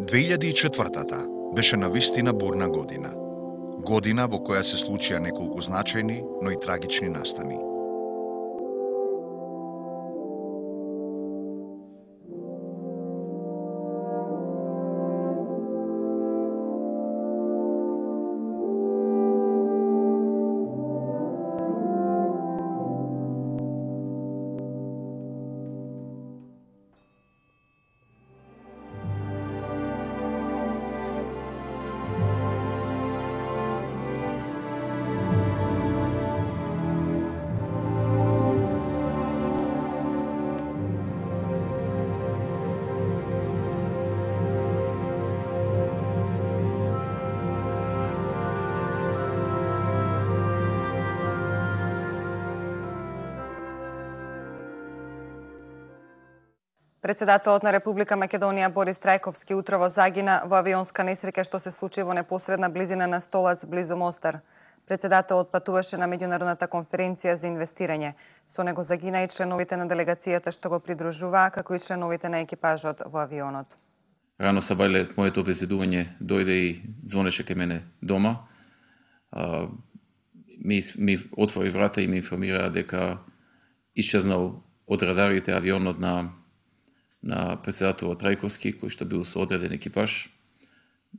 2004-та беше навистина бурна година. Година во која се случија неколку значајни, но и трагични настани. Председателот на Република Македонија Борис Трајковски утрово загина во авионска несреќа што се случи во непосредна близина на Столац близу Мостар. Председателот патуваше на меѓународната конференција за инвестирање. Со него загина и членовите на делегацијата што го придружуваа, како и членовите на екипажот во авионот. Рано сабајле моето обезведување дојде и звонеше кај мене дома. Ми отвори врата и ми информира дека исчезнал од радарите авионот на председателот Трајковски, кој што бил со одреден екипаж.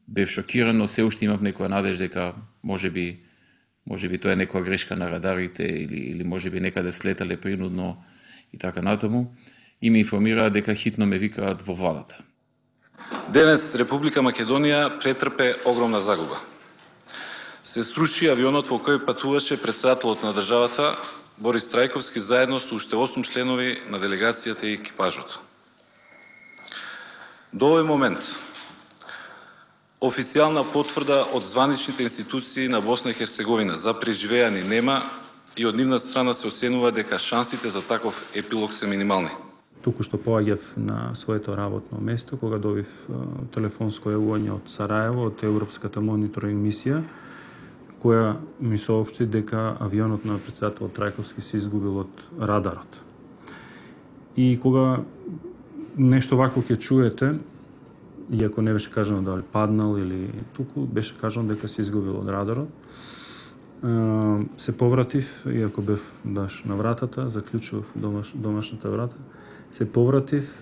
Бев шокиран, но се уште имав некоја надеж дека можеби тоа е некоја грешка на радарите или можеби некаде слетале принудно и така натаму. И ми информираа дека хитно ме викаат во владата. Денес Република Македонија претрпе огромна загуба. Се сруши авионот во кој патуваше председателот на државата Борис Трајковски заедно со уште 8 членови на делегацијата и екипажот. До овој момент, официјална потврда од званичните институции на Босна и Херцеговина за преживеани нема и од нивна страна се оценува дека шансите за таков епилог се минимални. Туку што поаѓав на своето работно место, кога добив телефонско јавување од Сараево, од Европската мониторинг мисија, која ми соопшти дека авионот на председател Трајковски се изгубил од радарот. И кога нешто вакво ќе чуете, иако не беше кажано дали паднал или туку, беше кажано дека се изгубил од радарот. Се повратив, иако бев на вратата, заклучував домашната врата, се повратив,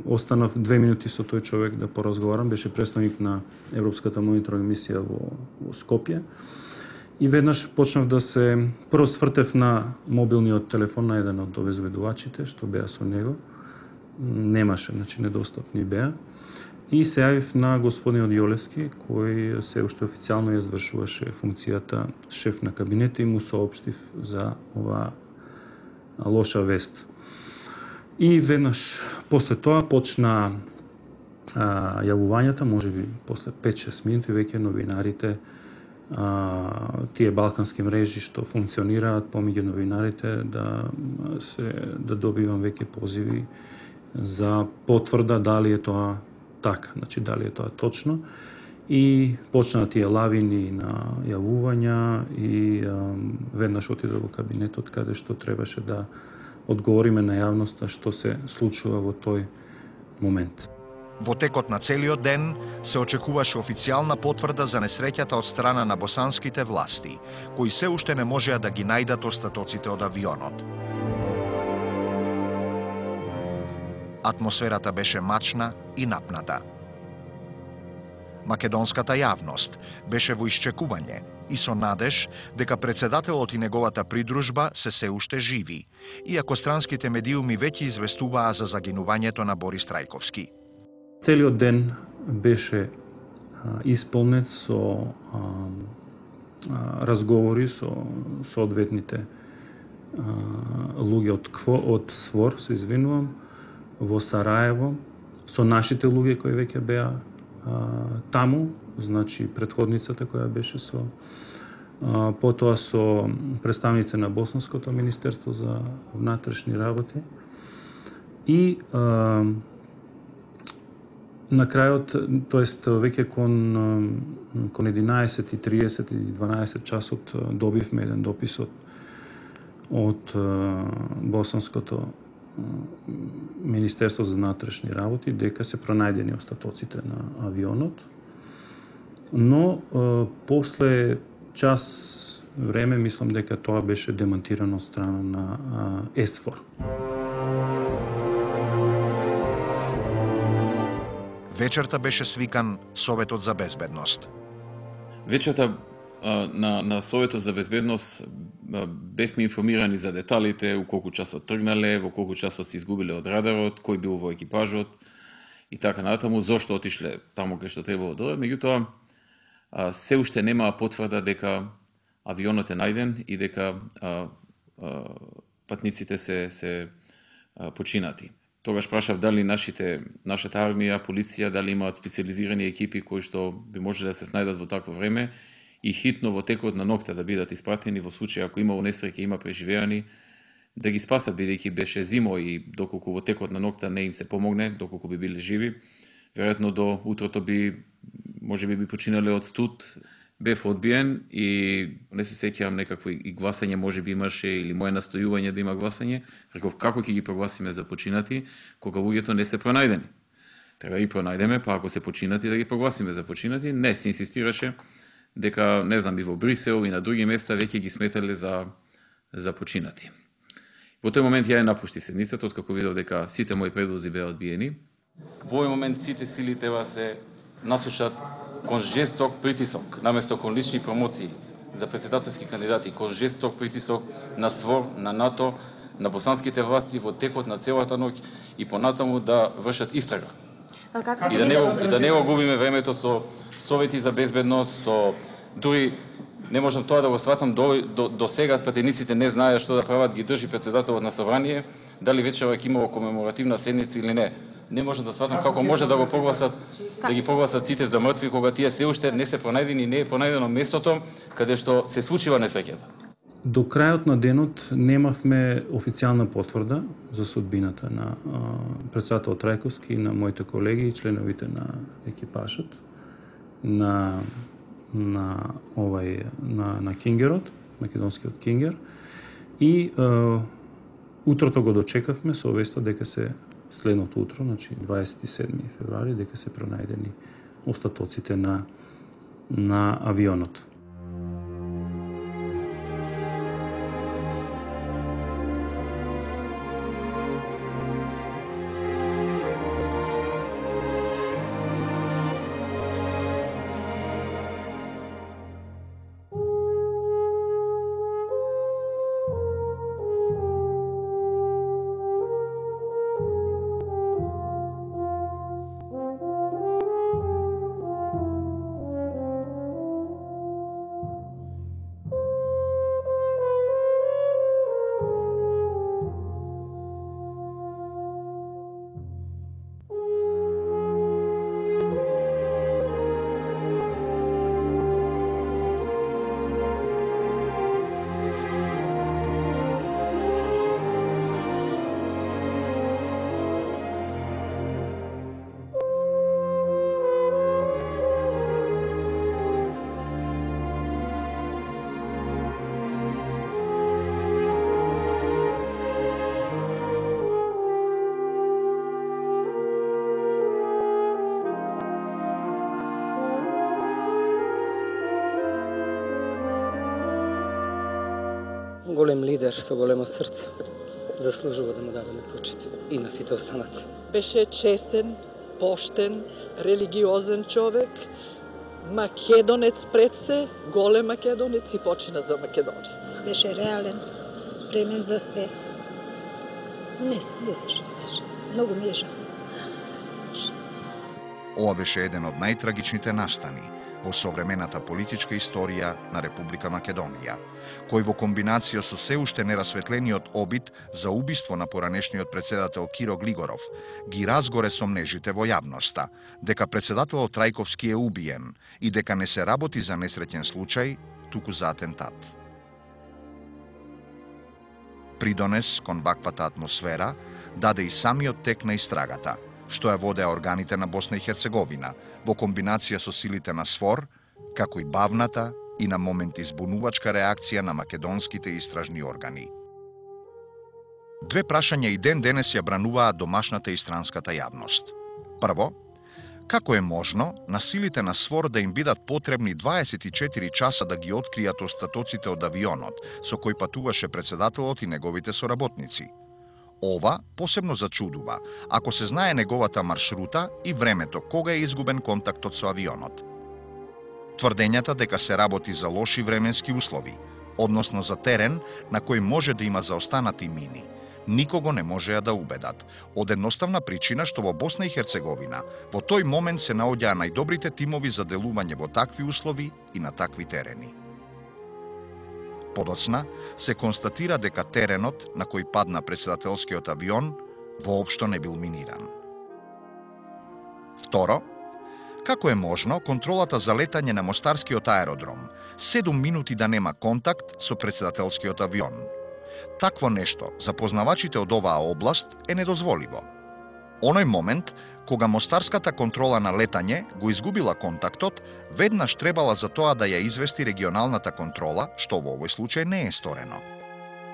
останав 2 минути со тој човек да поразговарам, беше представник на Европската мониторинг мисија во Скопје. И веднаш почнав да се прво свртев на мобилниот телефон на еден од обезведувачите што беа со него. Немаше, значи недостапни беа. И се јавив на господинот Јолевски, кој се уште официјално ја извршуваше функцијата шеф на кабинет и му соопштив за оваа лоша вест. И веднаш после тоа почна јавувањата, можеби после 5-6 минути веќе новинарите, тие балкански мрежи што функционираат помеѓу новинарите да добивам веќе позиви за потврда дали е тоа така, значи дали е тоа точно. И почнаа тие лавини на јавувања и веднаш отидов во кабинетот каде што требаше да одговориме на јавноста што се случува во тој момент. Во текот на целиот ден се очекуваше официјална потврда за несреќата од страна на босанските власти, кои се уште не можеа да ги најдат остатоците од авионот. Атмосферата беше мачна и напната. Македонската јавност беше во исчекување и со надеж дека председателот и неговата придружба се уште живи, иако странските медиуми веќе известуваа за загинувањето на Борис Трајковски. Целиот ден беше исполнет со разговори со соодветните луѓе од СВОР, се извинувам, во Сараево, со нашите луѓе кои веќе беа таму, значи предходницата која беше со потоа со представници на Боснското министерство за внатрешни работи и на крајот, тоест веќе кон 11:30 и 12 часот добивме еден допис од Босанското Министерство за внатрешни работи дека се пронајдени остатоците на авионот, но после час време мислам дека тоа беше демантирано од страна на ЕСФОР. Вечерта беше свикан Советот за безбедност. Вечерта на Советот за безбедност бевме информирани за деталите, у колку часот тргнале, во колку часот се изгубиле од радарот, кој бил во екипажот и така натаму, зошто отишле таму кај што требало да дојде. Меѓутоа, се уште немаа потврда дека авионот е најден и дека патниците се починати. Тогаш прашав дали нашата армија, полиција, дали имаат специализирани екипи кои што би можеле да се снајдат во такво време и хитно во текот на ноќта да бидат испратени во случај ако има несреќа, има преживеани, да ги спасат бидејќи беше зимо и доколку во текот на ноќта не им се помогне, доколку би биле живи, веројатно до утрото можеби би починале од студ. Бев одбиен и не се сеќавам некакво и гласање можеби имаше или мое настојување да има гласање. Реков како ќе ги прогласиме за починати кога луѓето не се пронајдени. Треба да ги пронајдеме, па ако се починати да ги прогласиме за починати. Не, се инсистираше дека, не знам, и во Брисел и на други места веќе ги сметале за починати. Во тој момент ја напушти седницата, откако видов дека сите мои предлози беа одбиени. Во овој момент сите сили треба се насушат кон жесток притисок, наместо кон лични промоции за председателски кандидати, кон жесток притисок на СВОР, на НАТО, на босанските власти во текот на целата ноќ и понатаму да вршат истрага. И да не го губиме времето со совети за безбедност, со дури не можам тоа да го сватам до сега пратениците не знаеа што да прават, ги држи председателот на собрание, дали вечерва ќе имало комеморативна седница или не. Не можам да сватам како може да ги прогласат сите за мртви кога тие се уште не се пронајдени и не е пронајдено местото каде што се случила несреќата. До крајот на денот немавме официјална потврда за судбината на председателот Трајковски и на моите колеги и членовите на екипажот на Кингерот, македонскиот Кингер, и утрото го дочекавме со веста дека се следното утро, значи 27 февруари, дека се пронајдени остатоците на авионот. Голем лидер со големо срце. Заслужува да му дадеме почит и на сите останати. Беше чесен, поштен, религиозен човек, македонец пред се, голем македонец и почина за Македонија. Беше реален, спремен за све. Не знам што да кажам. Многу ми е жал. Ова беше еден од најтрагичните настани во современата политичка историја на Република Македонија, кој во комбинација со се уште нерасветлениот обид за убиство на поранешниот председател Киро Глигоров ги разгоре сомнежите во јавноста дека председателот Трајковски е убиен и дека не се работи за несреќен случај, туку за атентат. Придонес кон ваквата атмосфера даде и самиот тек на истрагата, што ја водеа органите на Босна и Херцеговина, во комбинација со силите на СФОР, како и бавната и на моменти збунувачка реакција на македонските истражни органи. Две прашања и ден денес ја брануваат домашната и странската јавност. Прво, како е можно на силите на СВОР да им бидат потребни 24 часа да ги откријат остатоците од авионот со кој патуваше председателот и неговите соработници? Ова посебно зачудува, ако се знае неговата маршрута и времето кога е изгубен контактот со авионот. Тврдењата дека се работи за лоши временски услови, односно за терен на кој може да има заостанати мини, никого не можеа да убедат, од едноставна причина што во Босна и Херцеговина во тој момент се наоѓаа најдобрите тимови за делување во такви услови и на такви терени. Подоцна се констатира дека теренот на кој падна председателскиот авион воопшто не бил миниран. Второ, како е можно контролата за летање на мостарскиот аеродром 7 минути да нема контакт со председателскиот авион? Такво нешто за познавачите од оваа област е недозволиво. Оној момент, кога мостарската контрола на летање го изгубила контактот, веднаш требала за тоа да ја извести регионалната контрола, што во овој случај не е сторено.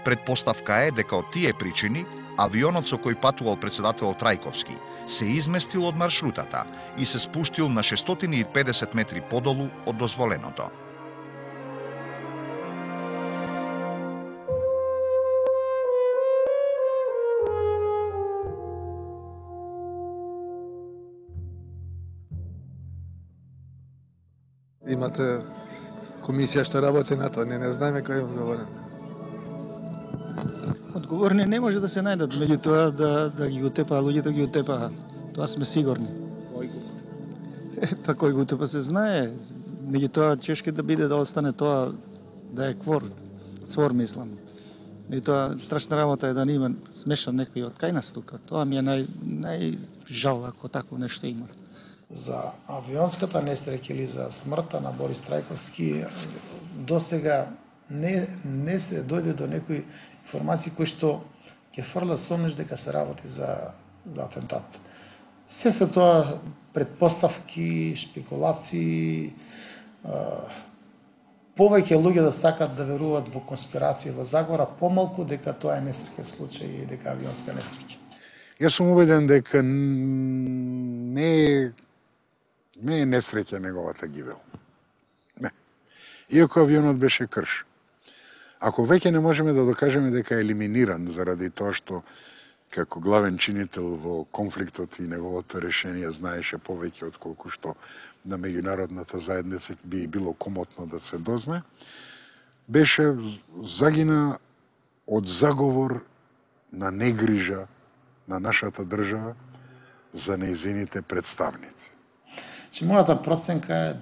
Предпоставка е дека од тие причини авионот со кој патувал председателот Трајковски се изместил од маршрутата и се спуштил на 650 метри подолу од дозволеното. Имате комисија што работи на тоа, не знаеме кој е одговорен. Одговорни не може да се најдат, меѓутоа да ги утепаа луѓето, ги утепаа. Тоа сме сигурни. Кој го? Па кој го утепа се знае, меѓутоа чешке да биде да остане тоа да е СВОР мислам. Меѓутоа страшна работа е да не има смешан некој од кај нас тука. Тоа ми е најжал ако такво нешто има. За авионската несреќа или за смртта на Борис Трајковски досега не се дојде до некои информации кои што ќе фрла сомнеш дека се работи за атентат. Се тоа предпоставки, шпекулации, повеќе луѓе да сакат да веруваат во конспирација во заговора, помалку дека тоа е несреќен случај и дека авионска несреќа. Јас сум убеден дека не е несреќа неговата гибел. Не. Иако авионот беше крш. Ако веќе не можеме да докажеме дека е елиминиран заради тоа што како главен чинител во конфликтот и неговото решение знаеше повеќе од колку што на меѓународната заедница би било комотно да се дознае, беше загина од заговор на негрижа на нашата држава за нејзините представници. Мојата проценка е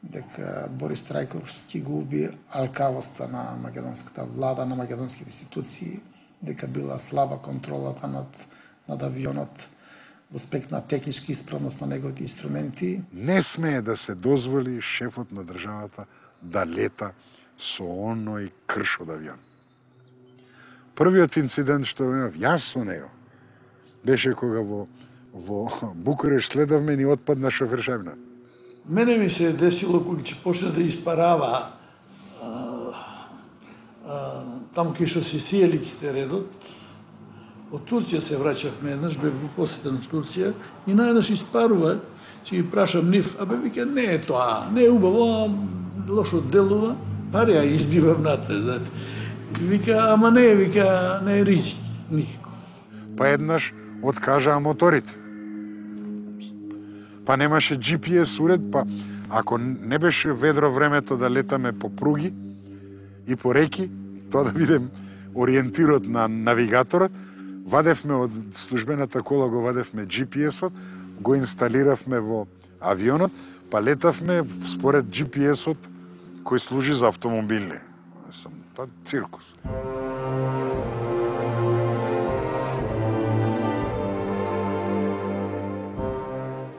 дека Борис Трајковски го уби алкавоста на македонската влада, на македонските институции, дека била слаба контролата над авионот во аспект на технички исправност на неговите инструменти. Не смее да се дозволи шефот на државата да лета со оној крш од авион. Првиот инцидент што имав јас со него беше кога во Букуреш следавме ни отпадна шофершавина. Мене ми се десило кога ќе почне да испарава таму кај што се сиелиците редот. Од Турција се враќавме еднаш, бев во посета на Турција и наеднаш испарува, ќе ги прашам нив, вика не е тоа, не е убаво, лошо делува, пари ја избива внатре, знаете. Вика, ама не е ризик, никако. Па еднаш откажаа моторите. Па немаше GPS уред, па ако не беше ведро времето да летаме по пруги и по реки, тоа да бидем ориентирот на навигаторот, вадевме од службената кола, го вадевме GPS-от, го инсталиравме во авионот, па летавме според GPS-от кој служи за автомобилни. Па циркус.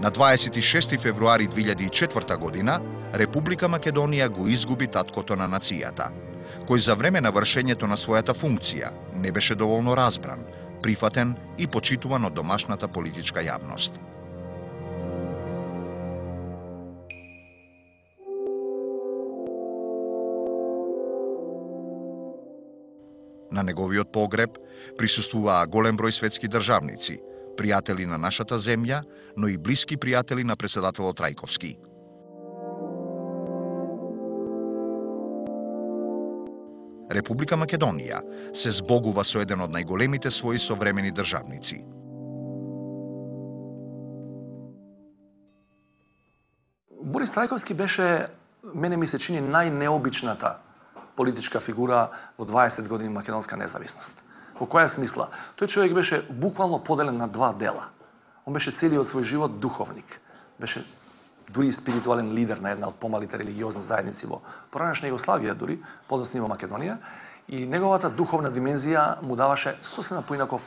На 26 февруари 2004 година, Република Македонија го изгуби таткото на нацијата, кој за време на вршењето на својата функција не беше доволно разбран, прифатен и почитуван од домашната политичка јавност. На неговиот погреб присуствуваа голем број светски државници, пријатели на нашата земја, но и блиски пријатели на председателот Трајковски. Република Македонија се збогува со еден од најголемите своји современи државници. Борис Трајковски беше, мене ми се чини, најнеобичната политичка фигура во 20 години македонска независност. Во која смисла? Тој човек беше буквално поделен на два дела. Он беше целиот свој живот духовник. Беше дури и спиритуален лидер на една од помалите религиозни заедници во поранешна Југославија, дури подоцна во Македонија, и неговата духовна димензија му даваше сосема поинаков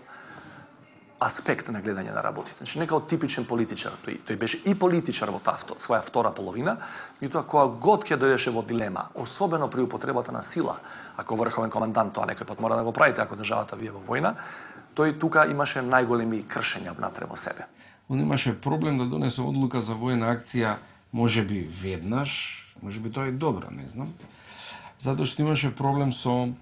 аспект на гледање на работите. Значи, нека од типичен политичар, тој беше и политичар во таа своја втора половина, меѓутоа кога год ќе дојдеше во дилема, особено при употребата на сила, ако врховен командант, тоа некој пат мора да го правите ако државата вие во војна, тој тука имаше најголеми кршења внатре во себе. Он имаше проблем да донесе одлука за војна акција, можеби веднаш, можеби тоа е добро, не знам. Затоа што имаше проблем со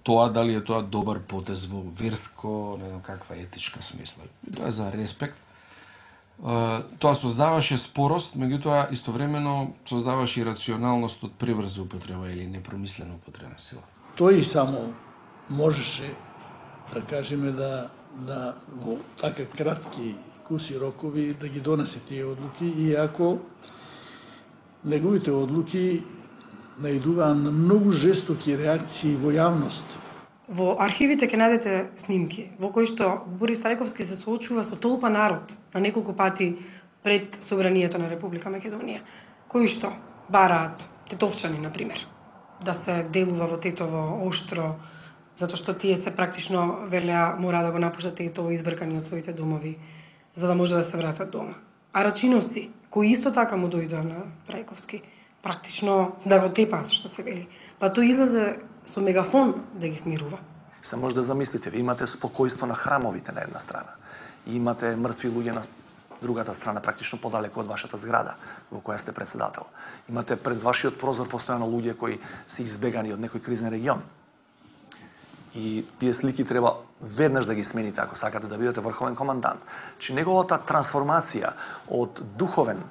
тоа дали е тоа добар потез во верско, не знам каква етичка смисла. Тоа е за респект. Тоа создаваше спорост, меѓутоа истовремено создаваше и рационалност од преврза употреба или непромислена употреба на сила. Тој само можеше, да кажеме, да во така кратки куси рокови да ги донесе тие одлуки, иако неговите одлуки наидуваа на многу жестоки реакции во јавност. Во архивите ќе најдете снимки во кои што Борис Трајковски се соочува со толпа народ на неколку пати пред собранието на Република Македонија, кои што бараат тетовчани, например, да се делува во Тетово оштро, затоа што тие се практично велеа мора да го напуштат Тетово избркани од своите домови, за да може да се вратат дома. А рачиновци, кои исто така му дојдоа на Трајковски, практично да го тепаат, што се вели. Па тој излезе со мегафон да ги смирува. Се може да замислите, ви имате спокојство на храмовите на една страна, и имате мртви луѓе на другата страна, практично подалеку од вашата зграда, во која сте председател. Имате пред вашиот прозор постојано луѓе кои се избегани од некој кризен регион. И тие слики треба веднаш да ги смените ако сакате да бидете врховен командант. Че неговата трансформација од духовен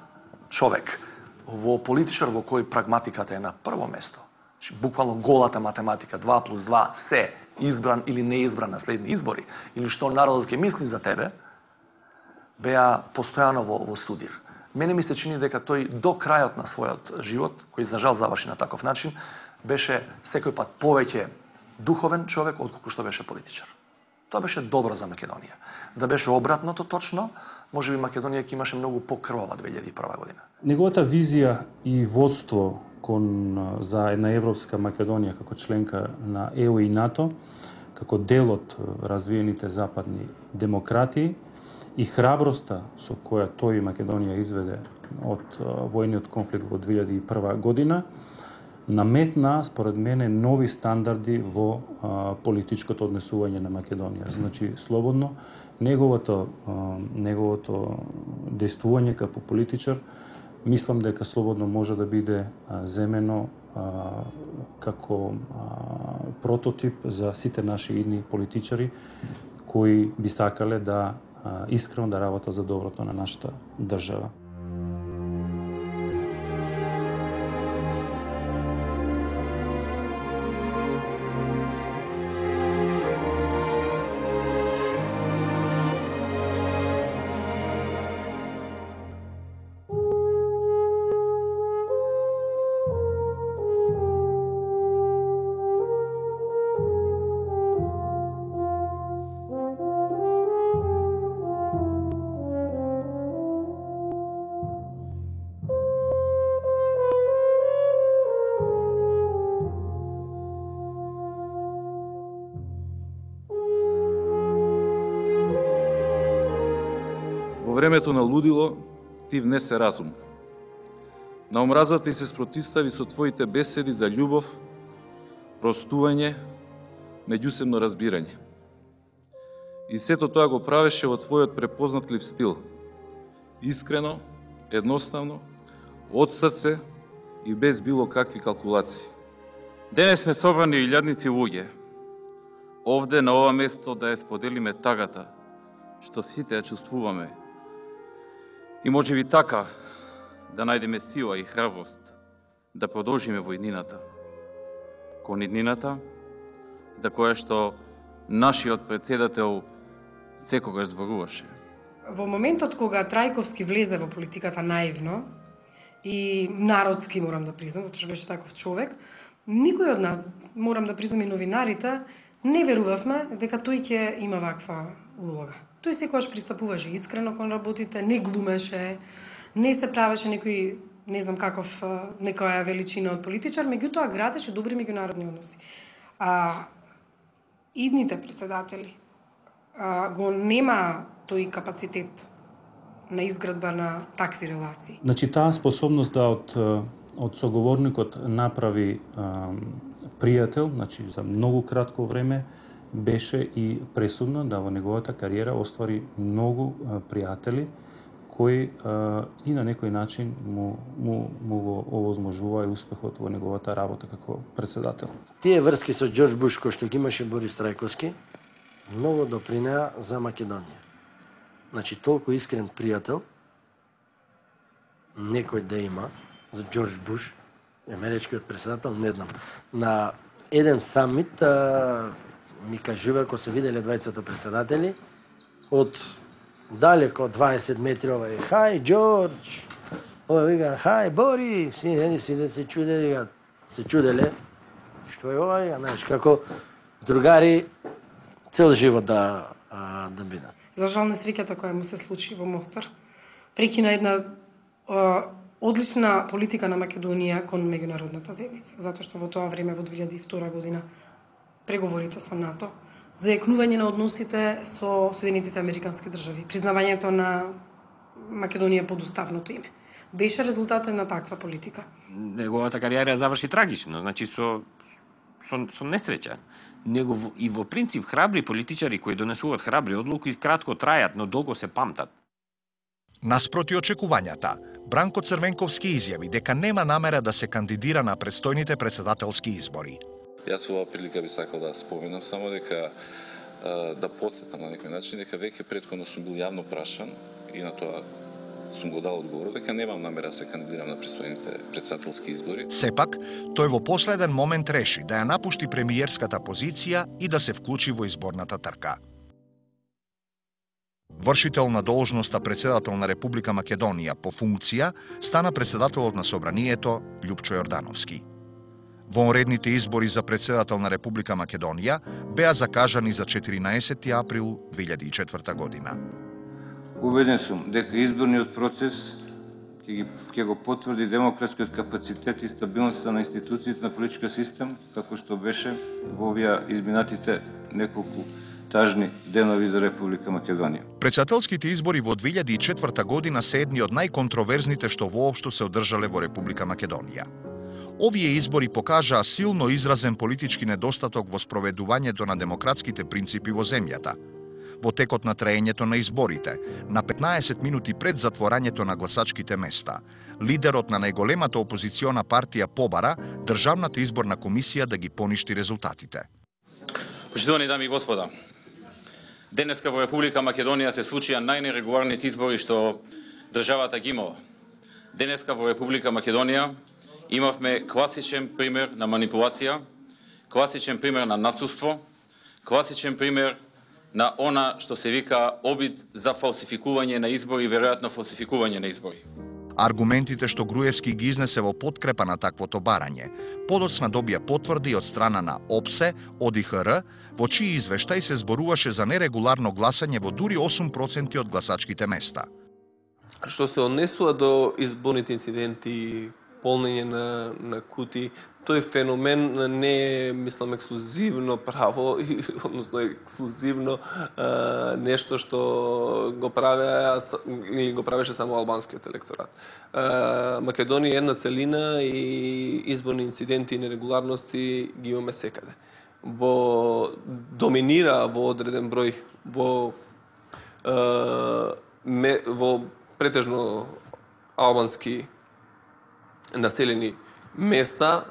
човек во политичар во кој прагматиката е на прво место, буквално голата математика, 2+2 се избран или неизбран на следни избори, или што народот ќе мисли за тебе, беа постојано во судир. Мене ми се чини дека тој до крајот на својот живот, кој за жал заврши на таков начин, беше секој пат повеќе духовен човек отколку што беше политичар. Тоа беше добро за Македонија. Да беше обратното точно, можеби Македонија ќе имаше многу покрвава 2001 година. Неговата визија и водство за една европска Македонија како членка на ЕУ и НАТО, како дел од развиените западни демократии и храброста со која тој Македонија изведе од војниот конфликт во 2001 година, наметна, според мене, нови стандарди во политичкото однесување на Македонија. Значи, слободно, неговото действување како политичар, мислам дека слободно може да биде земено како прототип за сите наши идни политичари кои би сакале да искрено да работат за доброто на нашата држава. Во времето на лудило ти внесе разум. На омразата и се спротистави со твоите беседи за љубов, простување, меѓусебно разбирање. И сето тоа го правеше во твојот препознатлив стил. Искрено, едноставно, од срце и без било какви калкулации. Денес сме собрани илјадници луѓе, овде на ова место да ја споделиме тагата што сите ја чувствуваме и можеби така да најдеме сила и храброст да продолжиме во иднината, кон иднината за која што нашиот председател секогаш зборуваше. Во моментот кога Трајковски влезе во политиката наивно и народски, морам да признам, затоа што беше таков човек, никој од нас, морам да признам и новинарите, не верувавме дека тој ќе има ваква улога. Тој секогаш пристапуваше искрено кон работите, не глумеше, не се правеше некој, не знам каков, некоја величина од политичар, меѓутоа градеше добри меѓународни односи. Идните председатели го нема тој капацитет на изградба на такви релации. Значи, таа способност да од соговорникот направи пријател, значи за многу кратко време, беше и пресудно да во неговата кариера оствари многу пријатели кои и на некој начин му го овозможува и успехот во неговата работа како председател. Тие врски со Џорџ Буш кои што ги имаше Борис Трајковски многу допринеа за Македонија. Значи, толку искрен пријател некој да има за Џорџ Буш, америчкиот председател, не знам. На еден самит ми кажува, кога се виделе двајцата председатели, од далеко 20 метри овај, хај Џорџ, овај вика, хај Борис, и едни си да се чуделе, што е овај, знаеш, како другари цел живот да бидат. За жал несреќата која му се случи во Мостар, прекина една одлична политика на Македонија кон меѓународната заедница, затоа што во тоа време, во 2002 година, преговорите со НАТО, зајакнување на односите со Соединетите Американски држави, признавањето на Македонија под уставното име, беше резултатот на таква политика. Неговата кариера заврши трагично, значи со несреќа. Него и во принцип храбри политичари кои донесуваат храбри одлуки кратко трајат, но долго се памтат. Наспроти очекувањата, Бранко Црвенковски изјави дека нема намера да се кандидира на предстојните председателски избори. Јас во оваа прилика би сакал да споменам само дека да потсетам на некој начин дека веќе претходно сум бил јавно прашан и на тоа сум го дал одговор дека немам намера да се кандидирам на предстојните председателски избори. Сепак, тој во последен момент реши да ја напушти премиерската позиција и да се вклучи во изборната трка. Вршител на должноста председател на Република Македонија по функција стана председателот на Собранието Љупчо Јордановски. Вонредните избори за председател на Република Македонија беа закажани за 14 април 2004 година. Убеден сум дека изборниот процес ќе го потврди демократскиот капацитет и стабилноста на институциите на политичкиот систем, како што беше во овие изминатите неколку тажни денови за Република Македонија. Председателските избори во 2004 година се едни од најконтроверзните што воопшто се одржале во Република Македонија. Овие избори покажаа силно изразен политички недостаток во спроведувањето на демократските принципи во земјата. Во текот на траењето на изборите, на 15 минути пред затворањето на гласачките места, лидерот на најголемата опозициона партија побара Државната изборна комисија да ги поништи резултатите. Почитувани дами и господа, денеска во Република Македонија се случија најнерегуларните избори што државата ги имала. Денеска во Република Македонија имавме класичен пример на манипулација, класичен пример на насилство, класичен пример на она што се вика обид за фалсификување на избори, веројатно фалсификување на избори. Аргументите што Груевски ги изнесе во подкрепа на таквото барање, подоцна добија потврди од страна на ОПСЕ, ОДИХР, во чии извештај се зборуваше за нерегуларно гласање во дури 8% од гласачките места. Што се однесува до изборните инциденти, полнење на кути, тој феномен не е, мислам, ексклузивно право, односно ексклузивно нешто што го правеше само албанскиот електорат. Македонија е една целина и изборни инциденти и нерегуларности ги имаме секаде. Доминира во одреден број во претежно албански населени места,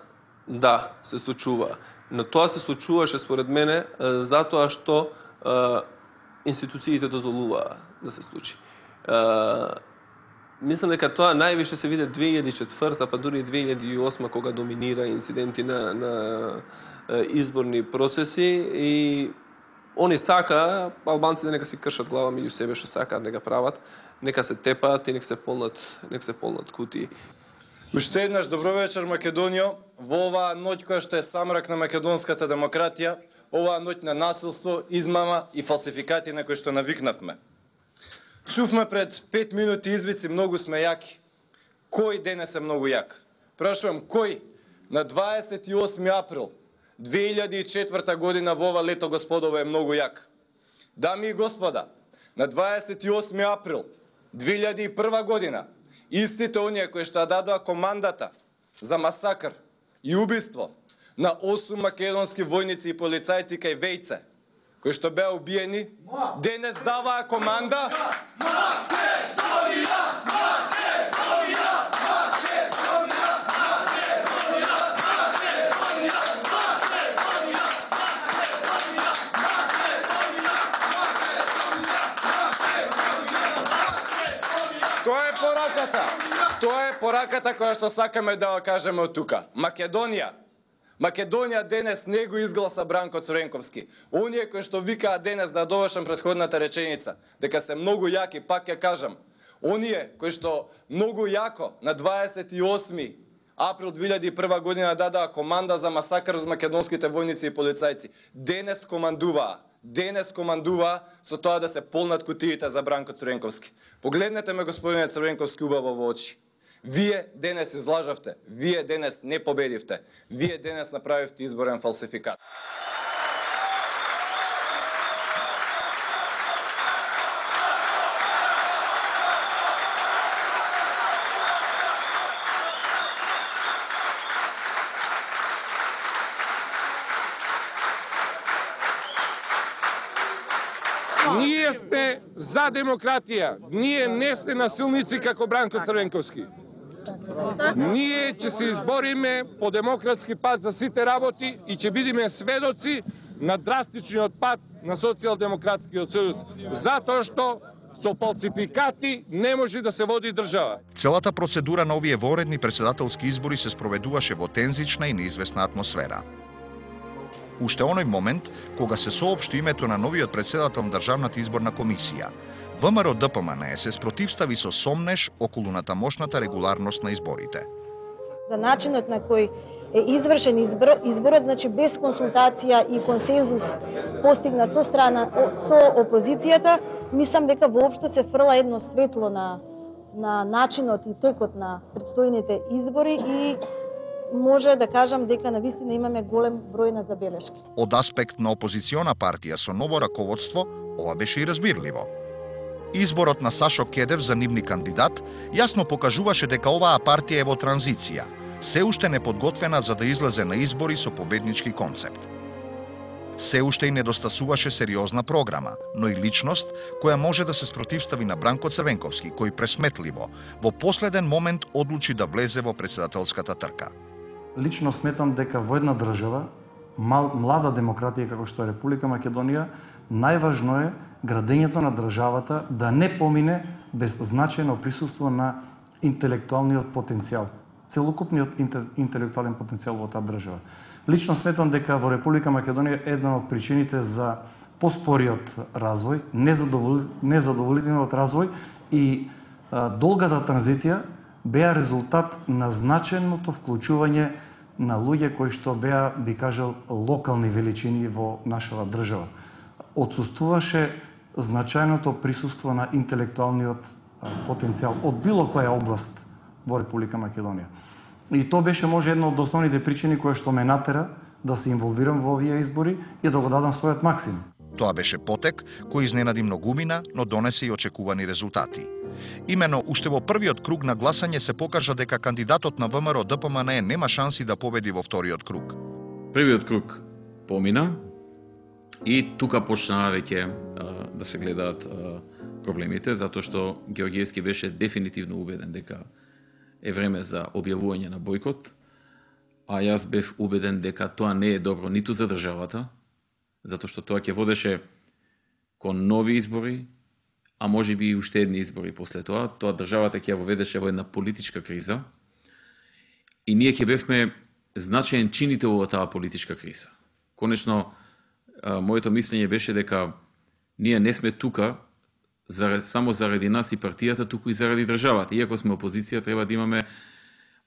да, се случува Но тоа се случуваше според мене затоа што институциите дозволуваа да се случи. Мислам дека тоа највише се виде 2004, па дури 2008 кога доминира инциденти на изборни процеси и они сака албанците нека си кршат глава меѓу себе што сакаат да прават, нека се тепаат и нека се полнат кутии. Уште еднаш добро вечер Македонијо, во оваа ноќ која што е самрак на македонската демократија, оваа ноќ на насилство, измама и фалсификати на кои што навикнавме. Чувме пред 5 минути извици многу сме јаки. Кој денес е многу јак? Прашувам кој на 28 април 2004 година во ова лето господово е многу јак. Дами и господа, на 28 април 2001 година истите оние кои што дадоа командата за масакр и убиство на 8 македонски војници и полицајци кај Вејце, кои што беа убиени, денес даваа команда Тоа е пораката која што сакаме да ја кажеме од тука. Македонија денес не го изгласа Бранко Црвенковски. Оние кои што викаат денес, да довршам претходната реченица, дека се многу јаки, пак ја кажам. Оние кои што многу јако на 28 април 2001 година дадаа команда за масакр од македонските војници и полицајци, денес командуваа со тоа да се полнат кутиите за Бранко Црвенковски. Погледнете ме, господине Црвенковски, убаво во очи. Вие денес излажавте, вие денес не победивте, вие денес направивте изборен фалсификат. Ние сме за демократија. Ние не сме насилници како Бранко Црвенковски. Ние ќе се избориме по демократски пат за сите работи и ќе бидеме сведоци на драстичниот пат на Социјалдемократскиот сојуз, затоа што со фалсификати не може да се води држава. Целата процедура на овие воредни председателски избори се спроведуваше во тензична и неизвестна атмосфера. Уште оној момент, кога се соопшти името на новиот председател на Државната изборна комисија, ВМРО ДПМН се спротивстави со сомнеш околу на тамошната регуларност на изборите. За начинот на кој е извршен изборот, значи без консултација и консензус постигнат со опозицијата, мислам дека воопшто се фрла едно светло на начинот и текот на предстојните избори и може да кажам дека навистина имаме голем број на забелешки. Од аспект на опозициона партија со ново раководство, ова беше и разбирливо. Изборот на Сашо Кедев за нивни кандидат јасно покажуваше дека оваа партија е во транзиција, се уште неподготвена за да излезе на избори со победнички концепт. Се уште и недостасуваше сериозна програма, но и личност која може да се спротивстави на Бранко Црвенковски, кој пресметливо во последен момент одлучи да влезе во председателската трка. Лично сметам дека во една држава, млада демократија како што е Република Македонија, најважно е градењето на државата да не помине без значајно присуство на интелектуалниот потенцијал, целокупниот интелектуален потенцијал во таа држава. Лично сметам дека во Република Македонија една од причините за поспориот развој, незадоволителниот развој и долгата транзиција беа резултат на значајното вклучување на луѓе кои што беа, би кажал, локални величини во нашава држава. Отсуствуваше значајното присуство на интелектуалниот потенцијал од било која област во Република Македонија. И тоа беше може една од основните причини која што ме натера да се инволвирам во овие избори и да го дадам својот максимум. Тоа беше потек кој изненади многумина, но донесе и очекувани резултати. Имено, уште во првиот круг на гласање се покажа дека кандидатот на ВМРО ДПМН нема шанси да победи во вториот круг. Првиот круг помина и тука почнаа веќе да се гледаат проблемите, затоа што Георгиевски беше дефинитивно убеден дека е време за објавување на бојкот, а јас бев убеден дека тоа не е добро ниту за државата, затоа што тоа ќе водеше кон нови избори, а може би и уште едни избори после тоа. Тоа државата ќе ја воведеше во една политичка криза и ние ќе бевме значаен чинител во таа политичка криза. Конечно, моето мислење беше дека ние не сме тука само заради нас и партијата, туку и заради државата. Иако сме опозиција, треба да имаме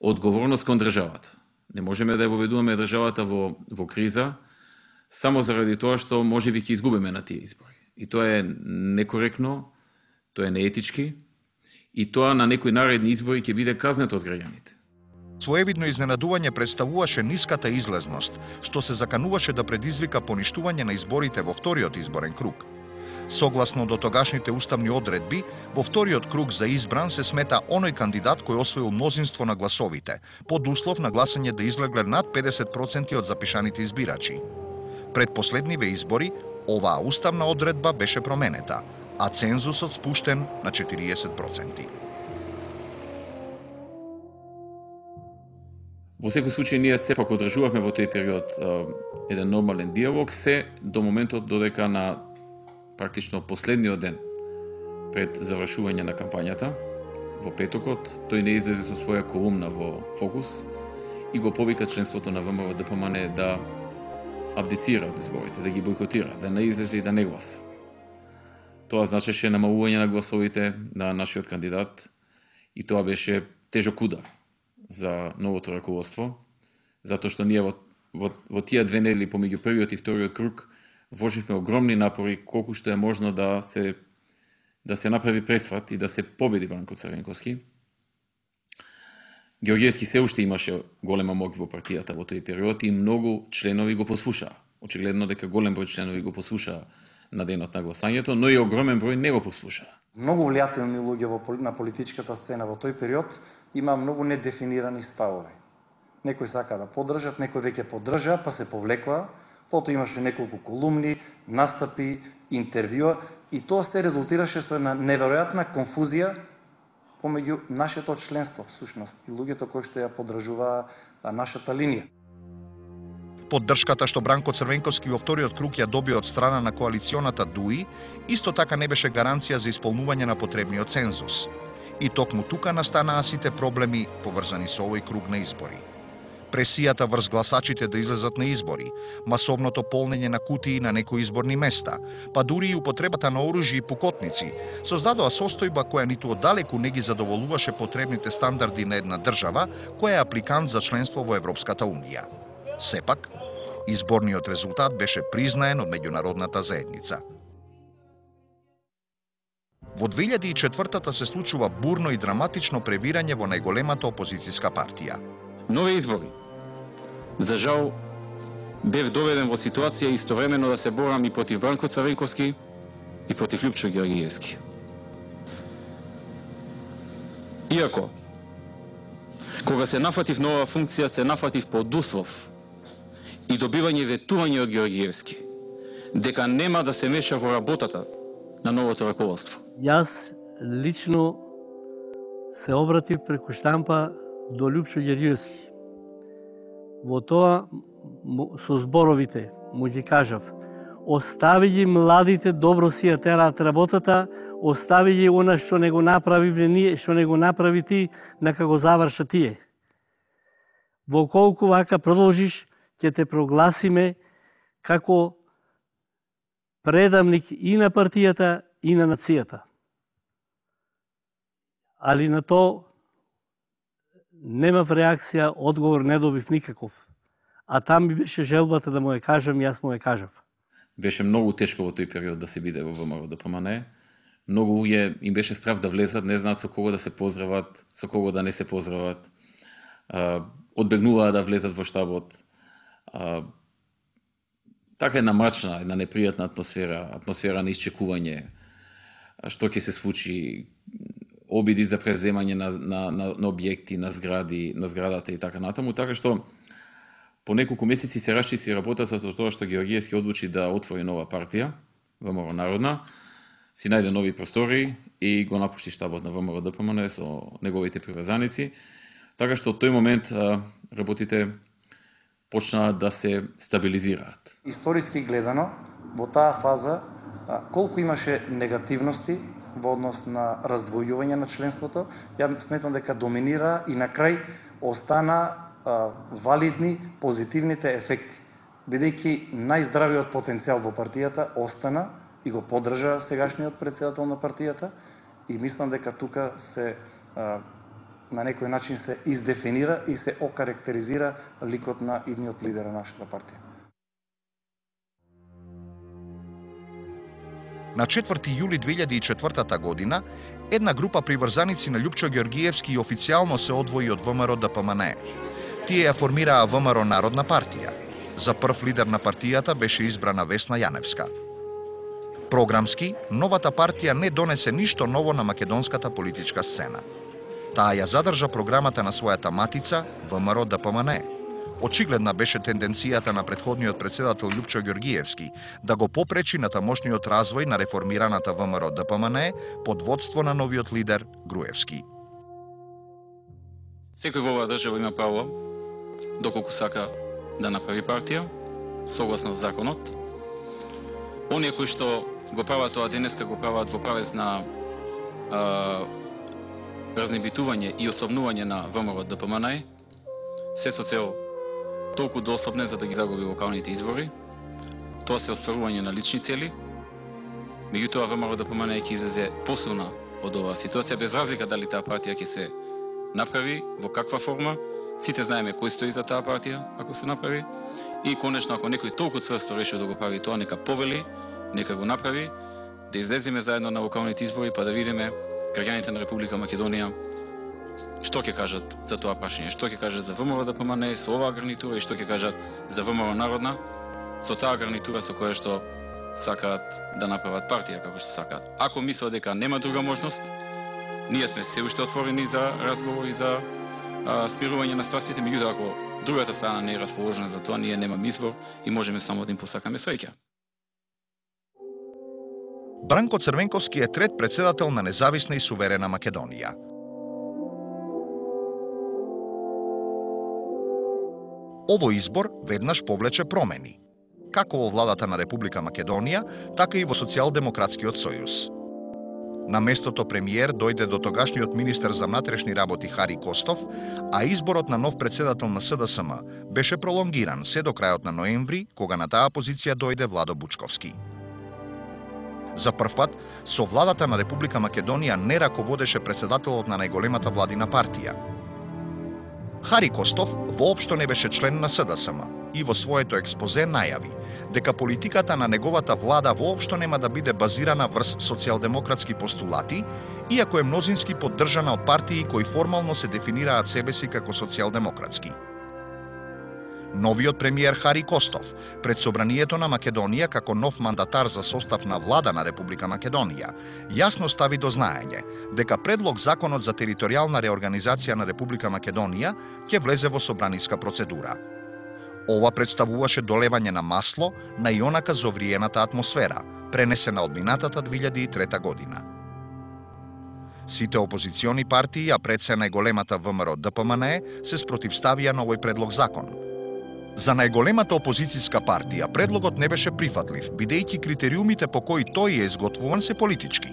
одговорност кон државата. Не можеме да ја воведуваме државата во криза само заради тоа што може би ќе изгубиме на тие избори. И тоа е некоректно, тоа е неетички и тоа на некои наредни избори ќе биде казнето од граѓаните. Своевидно изненадување представуваше ниската излезност, што се закануваше да предизвика поништување на изборите во вториот изборен круг. Согласно до тогашните уставни одредби, во вториот круг за избран се смета оној кандидат кој освоил мнозинство на гласовите, под услов на гласање да излегле над 50% од запишаните избирачи. Пред последниве избори, оваа уставна одредба беше променета, а цензусот спуштен на 40%. Во секој случај, ние сепак одржувавме во тој период еден нормален диалог, се до моментот додека на практично последниот ден пред завршување на кампањата, во петокот, тој не излезе со своја колумна во Фокус и го повика членството на ВМРО-ДПМН да абдицира од изборите, да ги бойкотира, да не излезе и да не гласа. Тоа значеше намалување на гласовите на нашиот кандидат и тоа беше тежок удар за новото раководство, затоа што ние во тие 2 недели помеѓу првиот и вториот круг вложивме огромни напори колку што е можно да се направи пресват и да се победи Бранко Црвенковски. Георгиевски се уште имаше голема моќ во партијата во тој период и многу членови го послушаа. Очигледно дека голем број членови го послушаа на денот на гласањето, но и огромен број не го послушаа. Многу влијателни луѓе на политичката сцена во тој период има многу недефинирани ставови. Некои сака да поддржат, некои веќе поддржаа, па се повлекоа. Потоа имаше неколку колумни, настапи, интервјуа и тоа се резултираше со една неверојатна конфузија помеѓу нашето членство всушност и луѓето кои што ја поддржуваа нашата линија. Поддршката што Бранко Црвенковски во вториот круг ја доби од страна на коалиционата ДУИ, исто така не беше гаранција за исполнување на потребниот цензус. И токму тука настанаа сите проблеми поврзани со овој круг на избори. Пресијата врз гласачите да излезат на избори, масовното полнење на кутии на некои изборни места, па дури и употребата на оружје и пукотници, создадоа состојба која ниту оддалеку не ги задоволуваше потребните стандарди на една држава која е апликант за членство во Европската унија. Сепак, изборниот резултат беше признаен од меѓународната заедница. Во 2004-та се случува бурно и драматично превирање во најголемата опозицијска партија. Нови избори. За жал, бев доведен во ситуација истовремено да се борам и против Бранко Црвенковски и против Лјупчо Георгиевски. Иако, кога се нафатив на оваа функција, се нафатив под услов и добивање ветување од Георгиевски, дека нема да се меша во работата на новото раководство. Јас лично се обратив преку штампа до Лјупчо Георгиевски. Во тоа со зборовите му ги кажав: остави ги младите, добро си ја тераат работата, остави ги она што не го направи ние, што не го направи ти, нека го заврша тие. Во колку вака продолжиш, ќе те прогласиме како предамник и на партијата и на нацијата. Али на тоа немав реакција, одговор не добив никаков. А там ми беше желбата да му ја кажам, јас му ја кажав. Беше многу тешко во тој период да се биде во ВМРО-ДПМН. Многу луѓе им беше страв да влезат, не знаат со кого да се поздрават, со кого да не се поздрават. Одбегнуваа да влезат во штабот. Така една мрачна, една непријатна атмосфера на исчекување. Што ќе се случи, обиди за преземање на објекти, на зградата и така натаму, така што по неколку месеци се расчисти работата со тоа што Георгиевски одлучи да отвори нова партија, ВМРО Народна, си најде нови простори и го напушти штабот на ВМРО-ДПМН со неговите приврзаници, така што од тој момент работите почнаа да се стабилизираат. Историски гледано, во таа фаза, колку имаше негативности во однос на раздвојување на членството, ја сметам дека доминира и на крај остана валидни позитивните ефекти. Бидејќи најздравиот потенцијал во партијата остана и го поддржа сегашниот председател на партијата и мислам дека тука се на некој начин се издефинира и се окарактеризира ликот на идниот лидер на нашата партија. На 4 јули 2004 година, една група приврзаници на Љупчо Ѓоргиевски официјално се одвои од ВМРО ДПМНЕ. Тие ја формираа ВМРО Народна партија. За прв лидер на партијата беше избрана Весна Јаневска. Програмски, новата партија не донесе ништо ново на македонската политичка сцена. Таа ја задржа програмата на својата матица, ВМРО ДПМНЕ. Очигледна беше тенденцијата на претходниот председател Љупчо Ѓоргиевски да го попречи на тамошниот развој на реформираната ВМРО ДПМНЕ под водство на новиот лидер Груевски. Секој во оваа држава има право, доколку сака да направи партија, согласно законот. Оние кои што го прават тоа денеска, го прават во правец на разнебитување и особнување на ВМРО ДПМНЕ, се со цел толку дособне за да ги загуби локалните избори. Тоа се остварување на лични цели. Меѓутоа ВМРО ДПМНЕ ќе излезе посилна од оваа ситуација, без разлика дали таа партија ќе се направи, во каква форма. Сите знаеме кој стои за таа партија, ако се направи. И конечно, ако некој толку цврсто реши да го прави тоа, нека повели, нека го направи, да излеземе заедно на локалните избори, па да видиме граѓаните на Република Македонија што ќе кажат за тоа прашање, што ќе кажат за ВМРО ДПМНЕ со оваа гарнитура и што ќе кажат за ВМРО Народна со таа гарнитура со која што сакаат да направат партија како што сакаат. Ако мислат дека нема друга можност, ние сме се уште отворени за разговор и за смирување на страстите, меѓутоа ако другата страна не е расположена за тоа, ние немаме избор и можеме само да им посакаме среќа. Бранко Црвенковски е трет председател на независна и суверена Македонија. Овој избор веднаш повлече промени, како во владата на Република Македонија, така и во Социјалдемократскиот сојуз. На местото премиер дојде до тогашниот министер за внатрешни работи Хари Костов, а изборот на нов председател на СДСМ беше пролонгиран се до крајот на ноември, кога на таа позиција дојде Владо Бучковски. За прв пат, со владата на Република Македонија не раководеше председателот на најголемата владина партија. Хари Костов воопшто не беше член на СДСМ и во своето експозе најави дека политиката на неговата влада воопшто нема да биде базирана врз социјалдемократски постулати, иако е мнозински поддржана од партии кои формално се дефинираат себеси како социјалдемократски. Новиот премиер Хари Костов пред Собранието на Македонија како нов мандатар за состав на влада на Република Македонија јасно стави до знаење дека предлог законот за територијална реорганизација на Република Македонија ќе влезе во собраниска процедура. Ова представуваше долевање на масло на ионака зовриената атмосфера, пренесена од минатата 2003 година. Сите опозициони партии, а пред се најголемата ВМРО ДПМНЕ, се спротивставија на овој предлог закон. За најголемата опозицијска партија предлогот не беше прифатлив, бидејќи критериумите по кои тој е изготвуван се политички.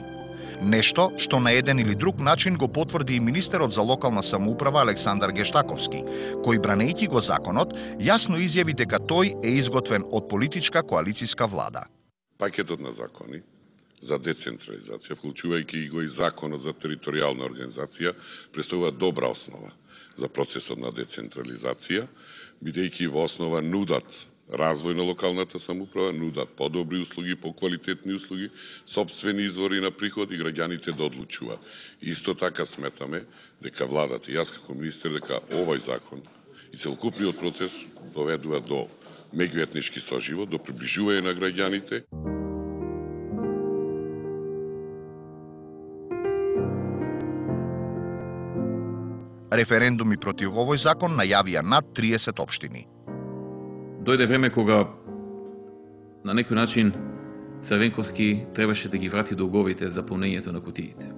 Нешто што на еден или друг начин го потврди и министерот за локална самоуправа Александар Гештаковски, кој бранејќи го законот, јасно изјави дека тој е изготвен од политичка коалицијска влада. Пакетот на закони за децентрализација, вклучувајќи го и законот за територијална организација, представува добра основа за процесот на децентрализација, бидејќи во основа нудат развој на локалната самоуправа, нудат подобри услуги, поквалитетни услуги, сопствени извори на приход и граѓаните да одлучуваат. Исто така сметаме дека владата и јас како министер дека овој закон и целокупниот процес доведува до меѓуетнички соживот, до приближување на граѓаните. Референдуми против овој закон најавија над 30 општини. Дојде време кога на некој начин Црвенковски требаше да ги врати долговите за полнењето на кутиите.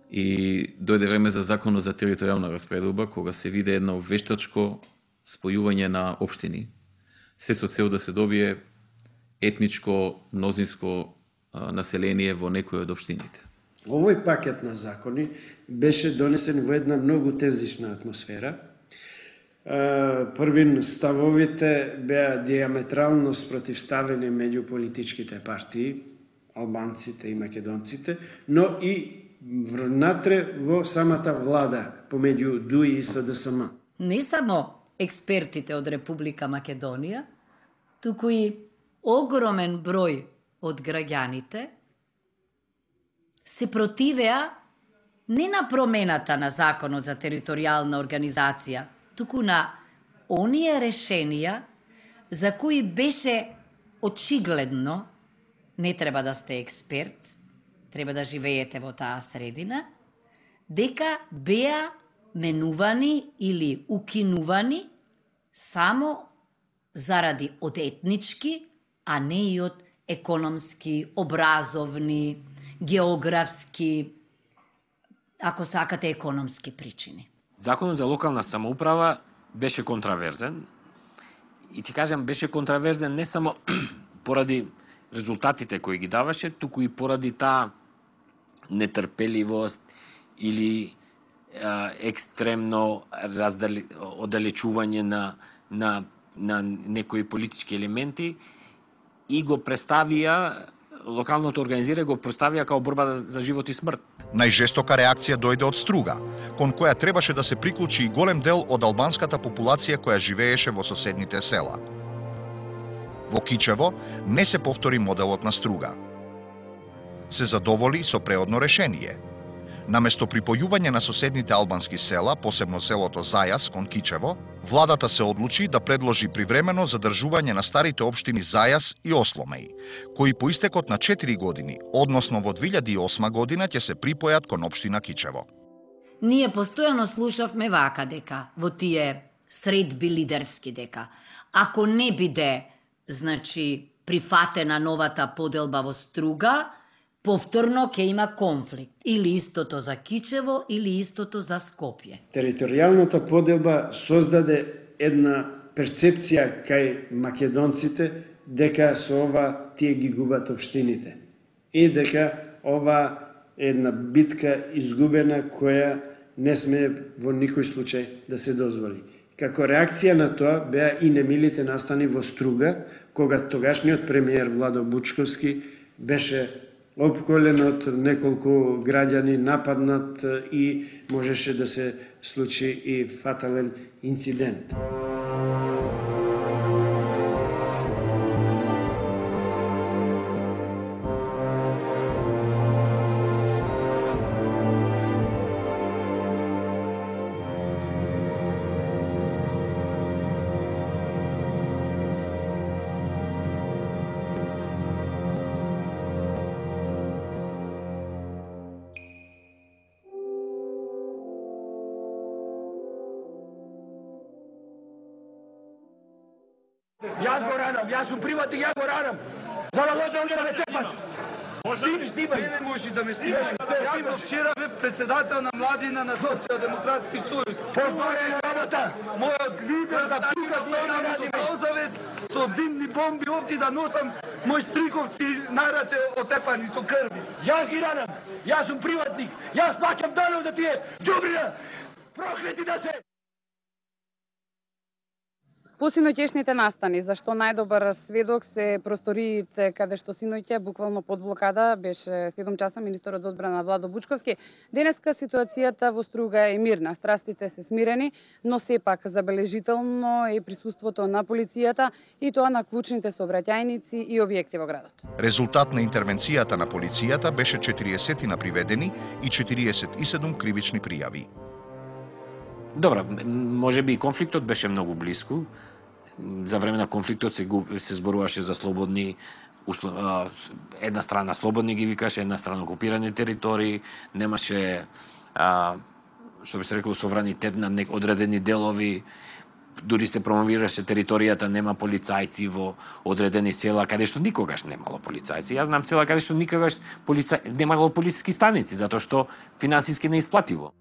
И дојде време за законот за територијална распределба, кога се виде едно вештачко спојување на општини, се со цел да се добие етничко, мнозинско население во некој од општините. Овој пакет на закони беше донесен во една многу тензична атмосфера. Првин ставовите беа диаметрално спротивставени меѓу политичките партии, албанците и македонците, но и внатре во самата влада, помеѓу ДУИ и СДСМ. Не само експертите од Република Македонија, туку и огромен број од граѓаните се противеа не на промената на Законот за територијална организација, туку на оние решенија за кои беше очигледно, не треба да сте експерт, треба да живеете во таа средина, дека беа менувани или укинувани само заради од етнички, а не и од економски, образовни, географски, ако сакате, економски причини. Законот за локална самоуправа беше контраверзен. И ти кажам, беше контраверзен не само поради резултатите кои ги даваше, туку и поради таа нетрпеливост или екстремно оддалечување на некои политички елементи и го представија, локалното организирање го представија као борба за живот и смрт. Најжестока реакција дојде од Струга, кон која требаше да се приклучи и голем дел од албанската популација која живееше во соседните села. Во Кичево не се повтори моделот на Струга. Се задоволи со преодно решение. Наместо припојување на соседните албански села, посебно селото Зајас кон Кичево, владата се одлучи да предложи привремено задржување на старите општини Зајас и Осломеј, кои по истекот на 4 години, односно во 2008 година, ќе се припојат кон општина Кичево. Ние постојано слушавме вака дека, во тие средби лидерски дека, ако не биде, прифатена новата поделба во Струга, повторно ќе има конфликт. Или истото за Кичево, или истото за Скопје. Територијалната поделба создаде една перцепција кај македонците дека со ова тие ги губат општините. И дека ова е една битка изгубена која не сме во никој случај да се дозволи. Како реакција на тоа беа и немилите настани во Струга, кога тогашниот премиер Владо Бучковски беше опколен од неколку граѓани, нападнат и можеше да се случи и фатален инцидент. Јас сум приватник, ја го ранам. За да можам да ме тепаш. Снимај. Не можеш да ме снимаш. Јас вчера бев председател на младина на Социјалдемократски сојуз. Повторен работа. Мојот лидер да пука со Ползавец со димни бомби овде да носам мој стриковци на раце отепани со крви. Јас ги ранам. Јас сум приватник. Јас плаќам данок за тие ѓубрина. Проклети да се. По синоќешните настани, зашто најдобар сведок се просториите каде што синоќе буквално под блокада беше 7 часа министерот за одбрана Владо Бучковски. Денеска ситуацијата во Струга е мирна, страстите се смирени, но сепак забележително е присуството на полицијата и тоа на клучните сообраќајници и објекти во градот. Резултат на интервенцијата на полицијата беше 40 на приведени и 47 кривични пријави. Добра, можеби и конфликтот беше многу блиску. За време на конфликтот се зборуваше за слободни, една страна слободни ги викаше, една страна окупирани територии, немаше, што би се рекло, совранитет на одредени делови, дури се промовираше територијата, нема полицајци во одредени села, каде што никогаш немало полицајци. Јас знам села каде што никогаш немало полициски станици, затоа што финансиски неисплативо.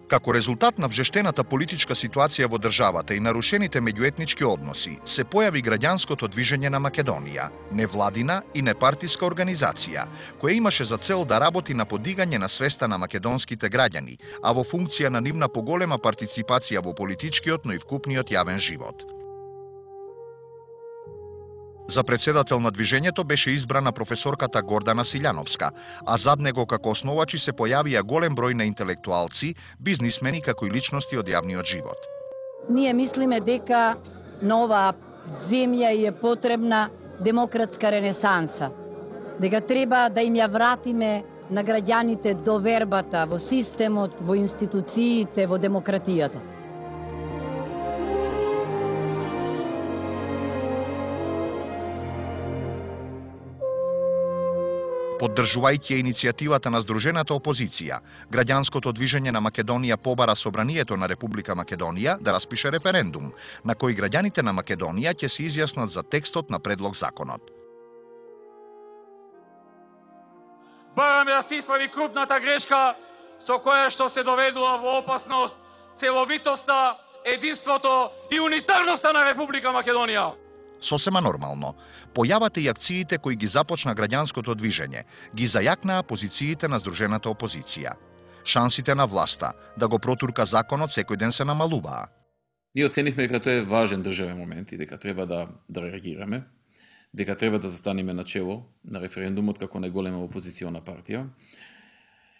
Како резултат на вжештената политичка ситуација во државата и нарушените меѓуетнички односи, се појави граѓанското движење на Македонија, невладина и непартиска организација, која имаше за цел да работи на подигање на свеста на македонските граѓани, а во функција на нивна поголема партиципација во политичкиот, но и вкупниот јавен живот. За председател на движењето беше избрана професорката Гордана Силјановска, а зад него како основачи се појавија голем број на интелектуалци, бизнисмени како и личности од јавниот живот. Ние мислиме дека на оваа земја е потребна демократска ренесанса, дека треба да им ја вратиме на граѓаните довербата во системот, во институциите, во демократијата. Поддржувајќи иницијативата на Сдружената опозиција, граѓанското движење на Македонија побара Собранието на Република Македонија да распише референдум, на кој граѓаните на Македонија ќе се изјаснат за текстот на предлог законот. Бараме да се исправи крупната грешка со која што се доведува во опасност целовитоста, единството и унитарноста на Република Македонија. Сосема нормално, појавата и акциите кои ги започна граѓанското движење, ги зајакнаа позициите на Сдружената опозиција. Шансите на власта да го протурка законот секој ден се намалуваа. Ние оценивме дека тоа е важен државен момент и дека треба да реагираме, дека треба да застанеме начело на референдумот како најголема опозициона партија.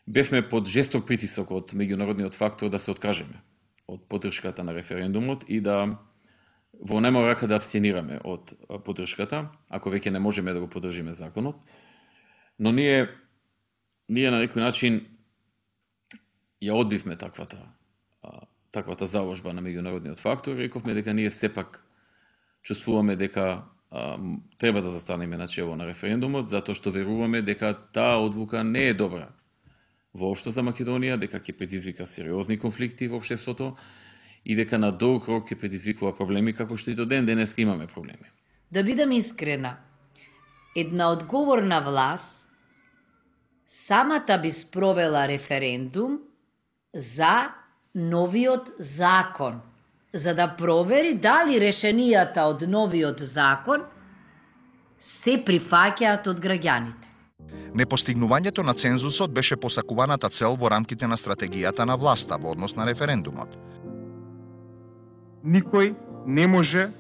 Бевме под жесток притисок од меѓународниот фактор да се откажеме од поддршката на референдумот и да во најмала рака да абстенираме од поддршката, ако веќе не можеме да го поддржиме законот. Но ние на некој начин ја одбивме таквата заложба на меѓународниот фактор и рековме дека ние сепак чувствуваме дека треба да застанеме начело на референдумот, затоа што веруваме дека таа одлука не е добра воопшто за Македонија, дека ќе предизвика сериозни конфликти во општеството и дека на долг рок ќе предизвикува проблеми, како што и до ден денеска имаме проблеми. Да бидам искрена, една одговорна власт самата би спровела референдум за новиот закон, за да провери дали решенијата од новиот закон се прифаќаат од граѓаните. Непостигнувањето на цензусот беше посакуваната цел во рамките на стратегијата на власта во однос на референдумот. Никој не може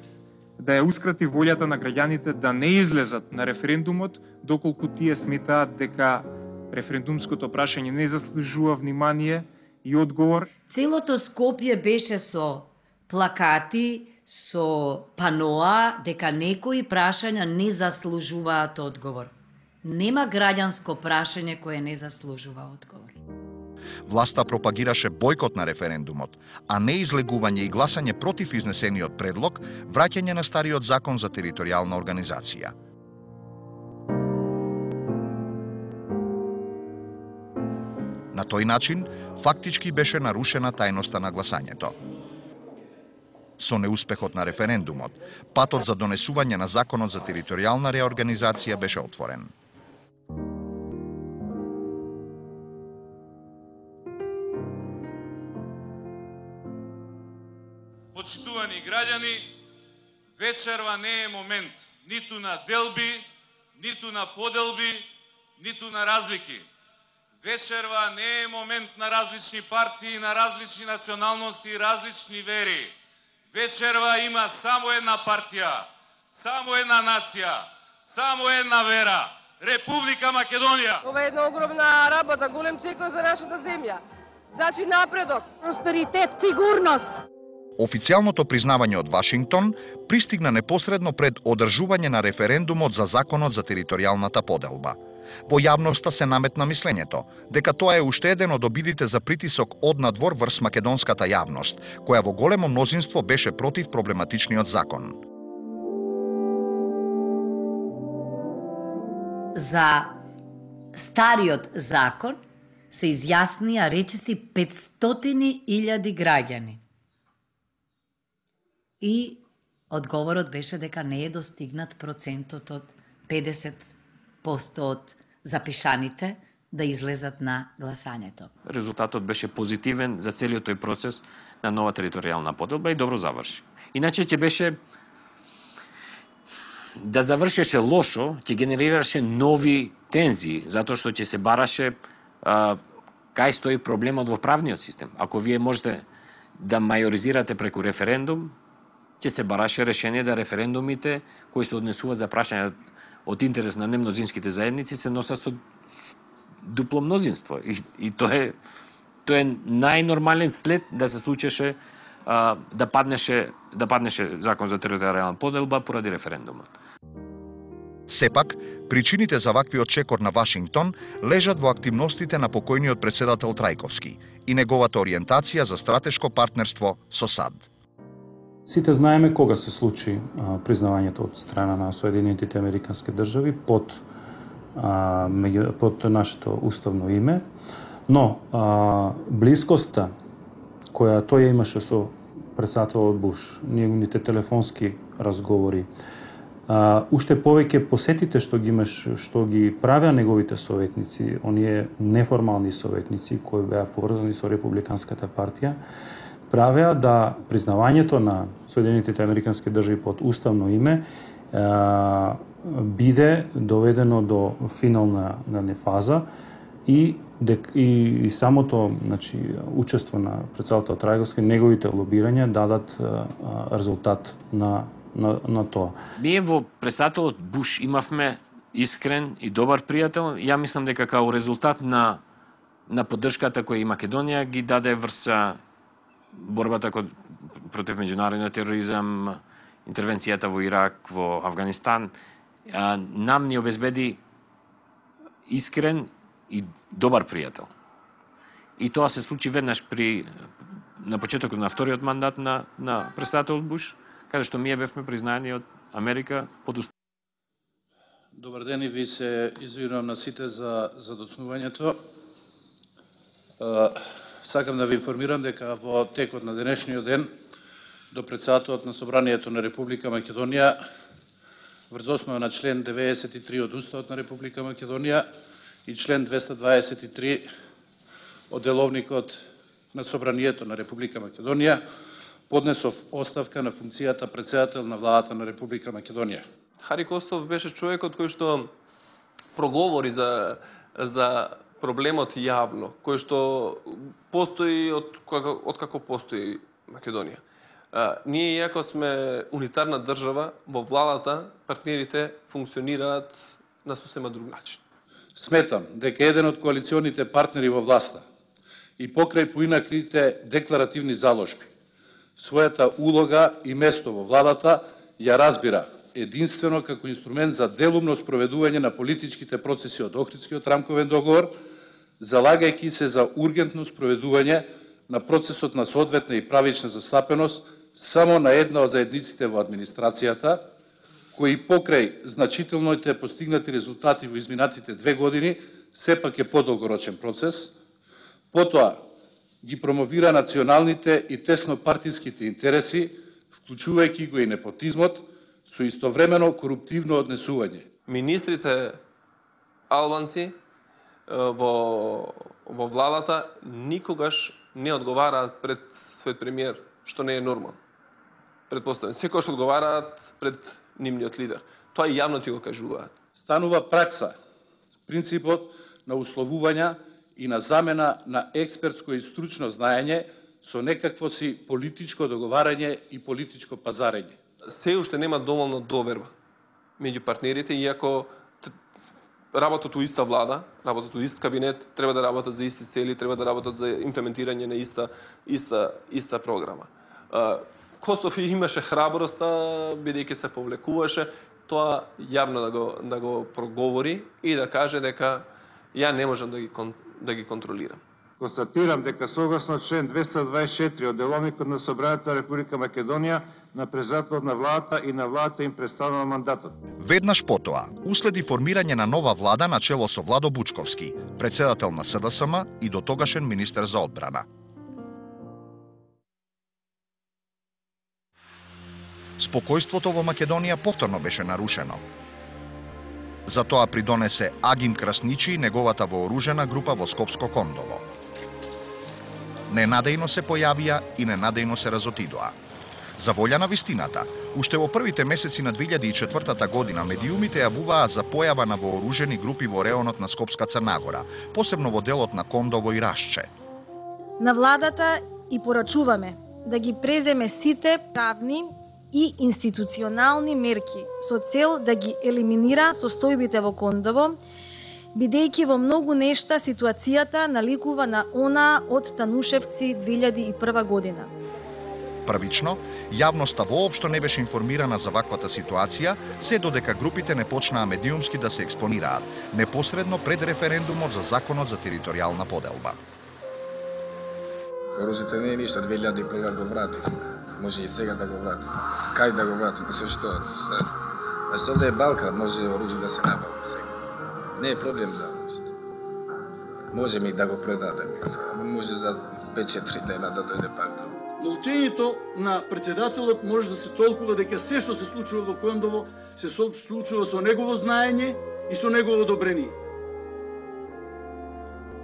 да ја ускрати волјата на граѓаните да не излезат на референдумот доколку тие сметаат дека референдумското прашање не заслужува внимание и одговор. Целото Скопје беше со плакати, со паноа дека некои прашања не заслужуваат одговор. Нема граѓанско прашање кое не заслужува одговор. Власта пропагираше бойкот на референдумот, а не излегување и гласање против изнесениот предлог, враќање на стариот закон за територијална организација. На тој начин, фактички беше нарушена тајноста на гласањето. Со неуспехот на референдумот, патот за донесување на законот за територијална реорганизација беше отворен. Почитувани граѓани, вечерва не е момент ниту на делби, ниту на поделби, ниту на разлики. Вечерва не е момент на различни партии, на различни националности и различни вери. Вечерва има само една партија, само една нација, само една вера. Република Македонија. Ова е една огромна работа, голем чекор за нашата земја. Значи напредок, просперитет, сигурност. Официјалното признавање од Вашингтон пристигна непосредно пред одржување на референдумот за законот за територијалната поделба. Во јавноста се наметна мислењето дека тоа е уште еден од обидите за притисок од надвор врз македонската јавност, која во големо мнозинство беше против проблематичниот закон. За стариот закон се изјаснија речиси 500.000 граѓани. И одговорот беше дека не е достигнат процентот од 50% од запишаните да излезат на гласањето. Резултатот беше позитивен за целиот тој процес на нова територијална поделба и добро заврши. Иначе ќе беше да завршеше лошо, ќе генерираше нови тензии, затоа што ќе се бараше кај стои проблемот во правниот систем. Ако вие можете да мајоризирате преку референдум, ќе се бараше решение да референдумите кои се однесуваат за прашања од интерес на немнозинските заедници се носат со дупло мнозинство. И тоа е најнормален след да се случеше да паднеше закон за територијална поделба поради референдумот. Сепак, причините за ваквиот чекор на Вашингтон лежат во активностите на покојниот председател Трајковски и неговата ориентација за стратешко партнерство со САД. Сите знаеме кога се случи признавањето од страна на Соединетите Американски држави под нашето уставно име, но блискоста која тој имаше со председателот Буш, неговите телефонски разговори, уште повеќе посетите што ги правеа неговите советници, оние неформални советници кои беа поврзани со Републиканската партија, правеа да признавањето на Соединетите Американски држави под уставно име биде доведено до финална фаза и самото учество на председател Трајковски, неговите лобирања дадат резултат на тоа. Ние во председателот Буш имавме искрен и добар пријател. Ја мислам дека као резултат на поддршката која и Македонија ги даде врз борбата против меѓународниот тероризам, интервенцијата во Ирак, во Авганистан, нам ни обезбеди искрен и добар пријател. И тоа се случи веднаш на почетокот на вториот мандат на председателот Буш, каде што ние бевме признаени од Америка под уст. Добар ден и ви се извинувам на сите за доцнувањето. Сакам да ви информирам дека во текот на денешниот ден до председателот на Собранието на Република Македонија врз основа на член 93 од Уставот на Република Македонија и член 223 од Деловникот на Собранието на Република Македонија поднесов оставка на функцијата председател на владата на Република Македонија. Хари Костов беше човекот кој што проговори за проблемот јавно, кој што постои од како постои Македонија. Ние, иако сме унитарна држава, во владата партнерите функционираат на сосема друг начин. Сметам дека еден од коалиционите партнери во власта и покрај поинаквите декларативни заложби, својата улога и место во владата ја разбира единствено како инструмент за делумно спроведување на политичките процеси од Охридскиот рамковен договор, залагајќи се за ургентно спроведување на процесот на соодветна и правична застапеност само на една од заедниците во администрацијата, кои покрај значителните постигнати резултати во изминатите 2 години, сепак е подолгорочен процес, потоа ги промовира националните и теснопартиските интереси, вклучувајќи го и непотизмот, со истовремено коруптивно однесување. Министрите албанци во владата никогаш не одговараат пред својот премиер, што не е нормално. Предпоставам, секогаш одговараат пред нивниот лидер. Тоа и јавно ти го кажуваат. Станува пракса принципот на условувања и на замена на експертско и стручно знаење со некакво си политичко договарање и политичко пазарење. Се уште нема доволно доверба меѓу партнерите, иако работат у иста влада, работат у ист кабинет, треба да работат за исти цели, треба да работат за имплементирање на иста програма. Костов имаше храброста, бидејќи се повлекуваше, тоа јавно да го проговори и да каже дека ја не можам да ги контролирам. Констатирам дека согласно член 224 од Деловникот на Собранието на Република Македонија на председателот на владата и на владата им престанува мандатот. Веднаш потоа уследи формирање на нова влада на чело со Владо Бучковски, председател на СДСМ и дотогашен министер за одбрана. Спокојството во Македонија повторно беше нарушено. За тоа придонесе Агим Красничи и неговата вооружена група во Скопско Кондово. Ненадејно се појавија и ненадејно се разотидоа. За волја на вистината, уште во првите месеци на 2004 година медиумите јавуваа за појава на вооружени групи во реонот на Скопска Црна Гора, посебно во делот на Кондово и Рашче. На владата и порачуваме да ги преземе сите правни и институционални мерки со цел да ги елиминира состојбите во Кондово, бидејќи во многу нешта ситуацијата наликува на она од Танушевци 2001 година. Првично, јавноста воопшто не беше информирана за ваквата ситуација, се додека групите не почнаа медиумски да се експонираат, непосредно пред референдумот за законот за територијална поделба. Оружјето не е ништо, 2001 го вратихме. Може и сега да го вратиме. Кај да го вратиме, со што? Зашто овде е Балкан, може оружје да се набави сега. Не е проблем за оружјето. Можеме и да го предадеме. Може за 5-4 дена да дојде пак друго. Молчењето на председателот може да се толкува дека се што се случува во Кондово се случува со негово знаење и со негово одобрение.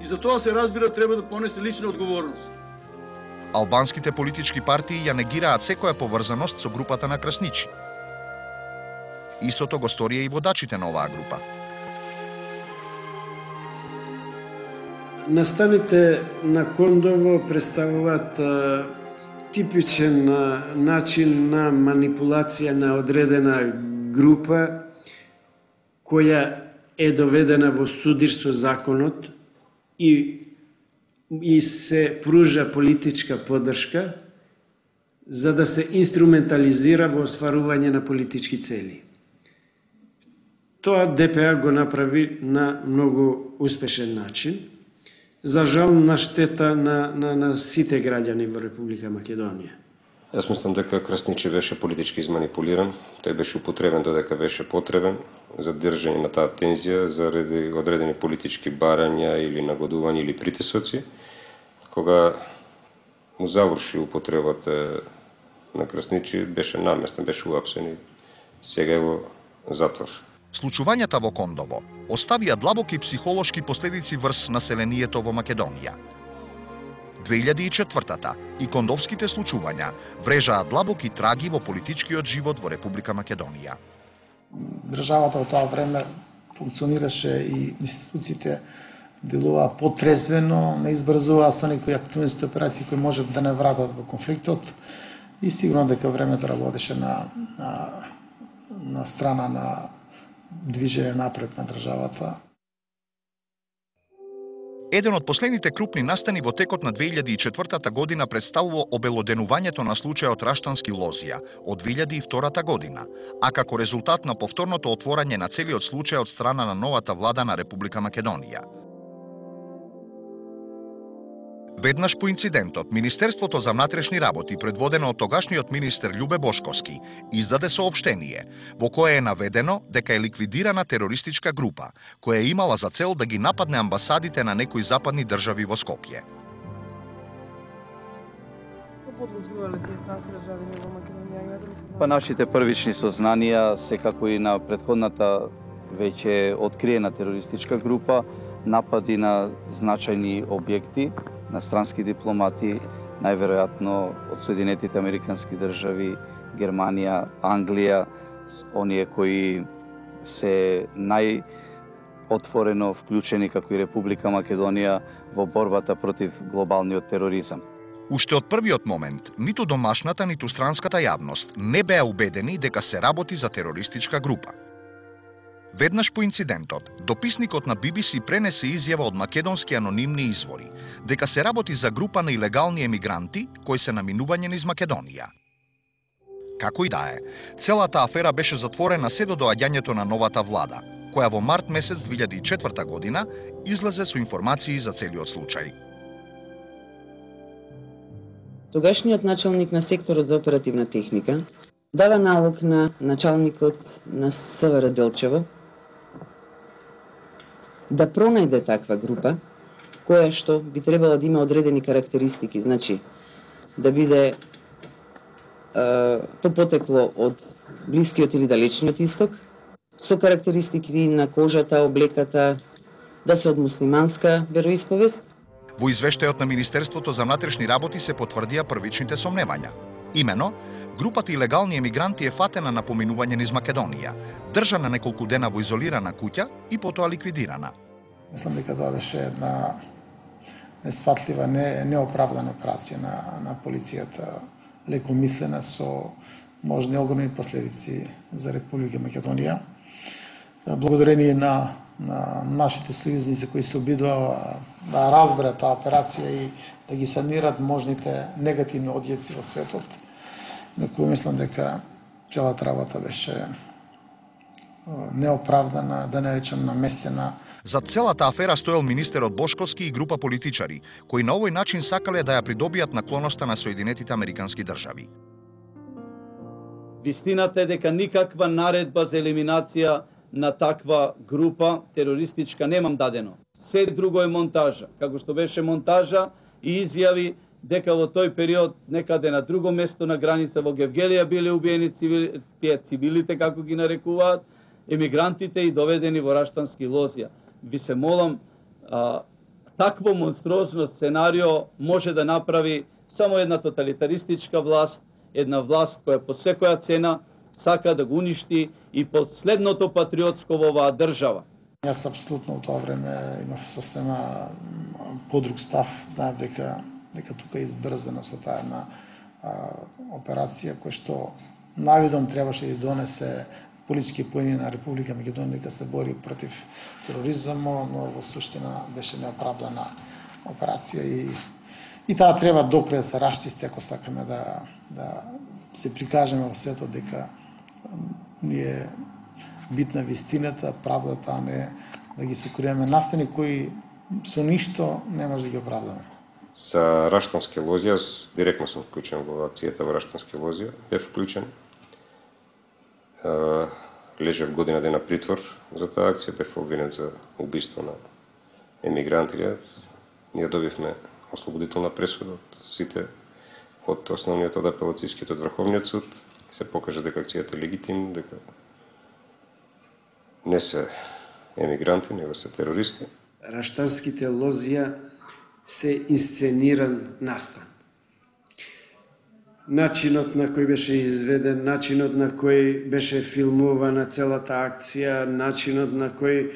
И за тоа се разбира треба да понесе лична одговорност. Албанските политички партии ја негираат секоја поврзаност со групата на Красничи. Истото го сторија и водачите на оваа група. Настаните на Кондово представуваат типичен начин на манипулација на одредена група која е доведена во судир со законот и се пружа политичка поддршка за да се инструментализира во остварување на политички цели. Тоа ДПА го направи на многу успешен начин, за жал на штета на сите граѓани во Република Македонија. Јас мислам дека Красничи беше политички изманипулиран, тој беше употребен додека беше потребен за држање на таа тензија заради одредени политички барања или нагодувања или притисоци. Кога му заврши употребата на Красничи, беше наместен, беше уапсен и сега е во затвор. Случувањата во Кондово оставија длабоки психолошки последици врз населението во Македонија. 2004-та и кондовските случувања врежаа длабоки траги во политичкиот живот во Република Македонија. Државата во тоа време функционираше и институциите делуваа потрезвено, не избрзуваа со некои активности операции кои можат да не вратат во конфликтот и сигурно дека времето работеше на страна на движење напред на државата. Еден од последните крупни настани во текот на 2004 година представува обелоденувањето на случајот Раштански Лозија од 2002 година, а како резултат на повторното отворање на целиот случај од страна на новата влада на Република Македонија. Веднаш по инцидентот, Министерството за внатрешни работи, предводено од тогашниот министер Љубе Бошковски, издаде соопштение во кое е наведено дека е ликвидирана терористичка група, која имала за цел да ги нападне амбасадите на некои западни држави во Скопје. Па нашите првични сознанија, секако и на претходната веќе откриена терористичка група, напади на значајни објекти, на странски дипломати, најверојатно од Соединетите Американски држави, Германија, Англија, оние кои се најотворено вклучени како и Република Македонија во борбата против глобалниот тероризам. Уште од првиот момент, ниту домашната, ниту странската јавност не беа убедени дека се работи за терористичка група. Веднаш по инцидентот, дописникот на BBC пренесе изјава од македонски анонимни извори дека се работи за група на илегални емигранти кои се наминување низ Македонија. Како и да е, целата афера беше затворена се до доаѓањето на новата влада, која во март месец 2004 година излезе со информации за целиот случај. Тогашниот началник на секторот за оперативна техника дава налог на началникот на СВР Делчева да пронајде таква група, која што би требала да има одредени карактеристики, значи да биде то потекло од Блискиот или Далечниот Исток, со карактеристики на кожата, облеката, да се од муслиманска вероисповест. Во извештајот на Министерството за внатрешни работи се потврдија првичните сомневања. Имено, групата илегални емигранти е фатена на поминување низ Македонија, држана неколку дена во изолирана куќа и потоа ликвидирана. Мислам дека тоа беше една несфатлива, неоправдана операција на полицијата, лекомислена со можни огромни последици за Република Македонија. Благодарение на нашите сојузници кои се обидуваа да разберат таа операција и да ги санират можните негативни одјеци во светот. Некој мислам дека целата работа беше неоправдана, да не речем наместена. За целата афера стоел министерот Бошковски и група политичари, кои на овој начин сакале да ја придобијат наклоноста на Соединетите Американски држави. Вистината е дека никаква наредба за елиминација на таква група терористичка немам дадено. Се друго е монтажа, како што беше монтажа и изјави дека во тој период некаде на друго место на граница во Гевгелија биле убиени цивилите, како ги нарекуваат, емигрантите и доведени во Раштански лозја. Ви се молам, такво монструозно сценарио може да направи само една тоталитаристичка власт, една власт која по секоја цена сака да го уништи и последното патриотско во оваа држава. Јас апсолутно во тоа време имав сосема подруг став. Знаев дека тука е избрзано со таа една операција која што навидом требаше да донесе политички поени на Република Македонија дека се бори против тероризмот, но во суштина беше неоправдана операција и таа треба докрај да се расчисти ако сакаме да се прикажеме во светот дека ние битна вистината, правдата, а не да ги сокриеме настани кои со ништо не може да ги оправдаме. За Раштански лозија, директно сум вклучен во акцијата во Раштански лозија, бев вклучен. Лежев година дена притвор за таа акција, бев обвинет за убиство на емигранти. Ние добивме ослободителна пресуда од сите, од основниот, од апелацијскиот, од Врховниот суд. Се покажа дека акцијата е легитимна, дека не се емигранти, него се терористи. Раштанските лозија се инсцениран настан. Начинот на кој беше изведен, начинот на кој беше филмувана целата акција, начинот на кој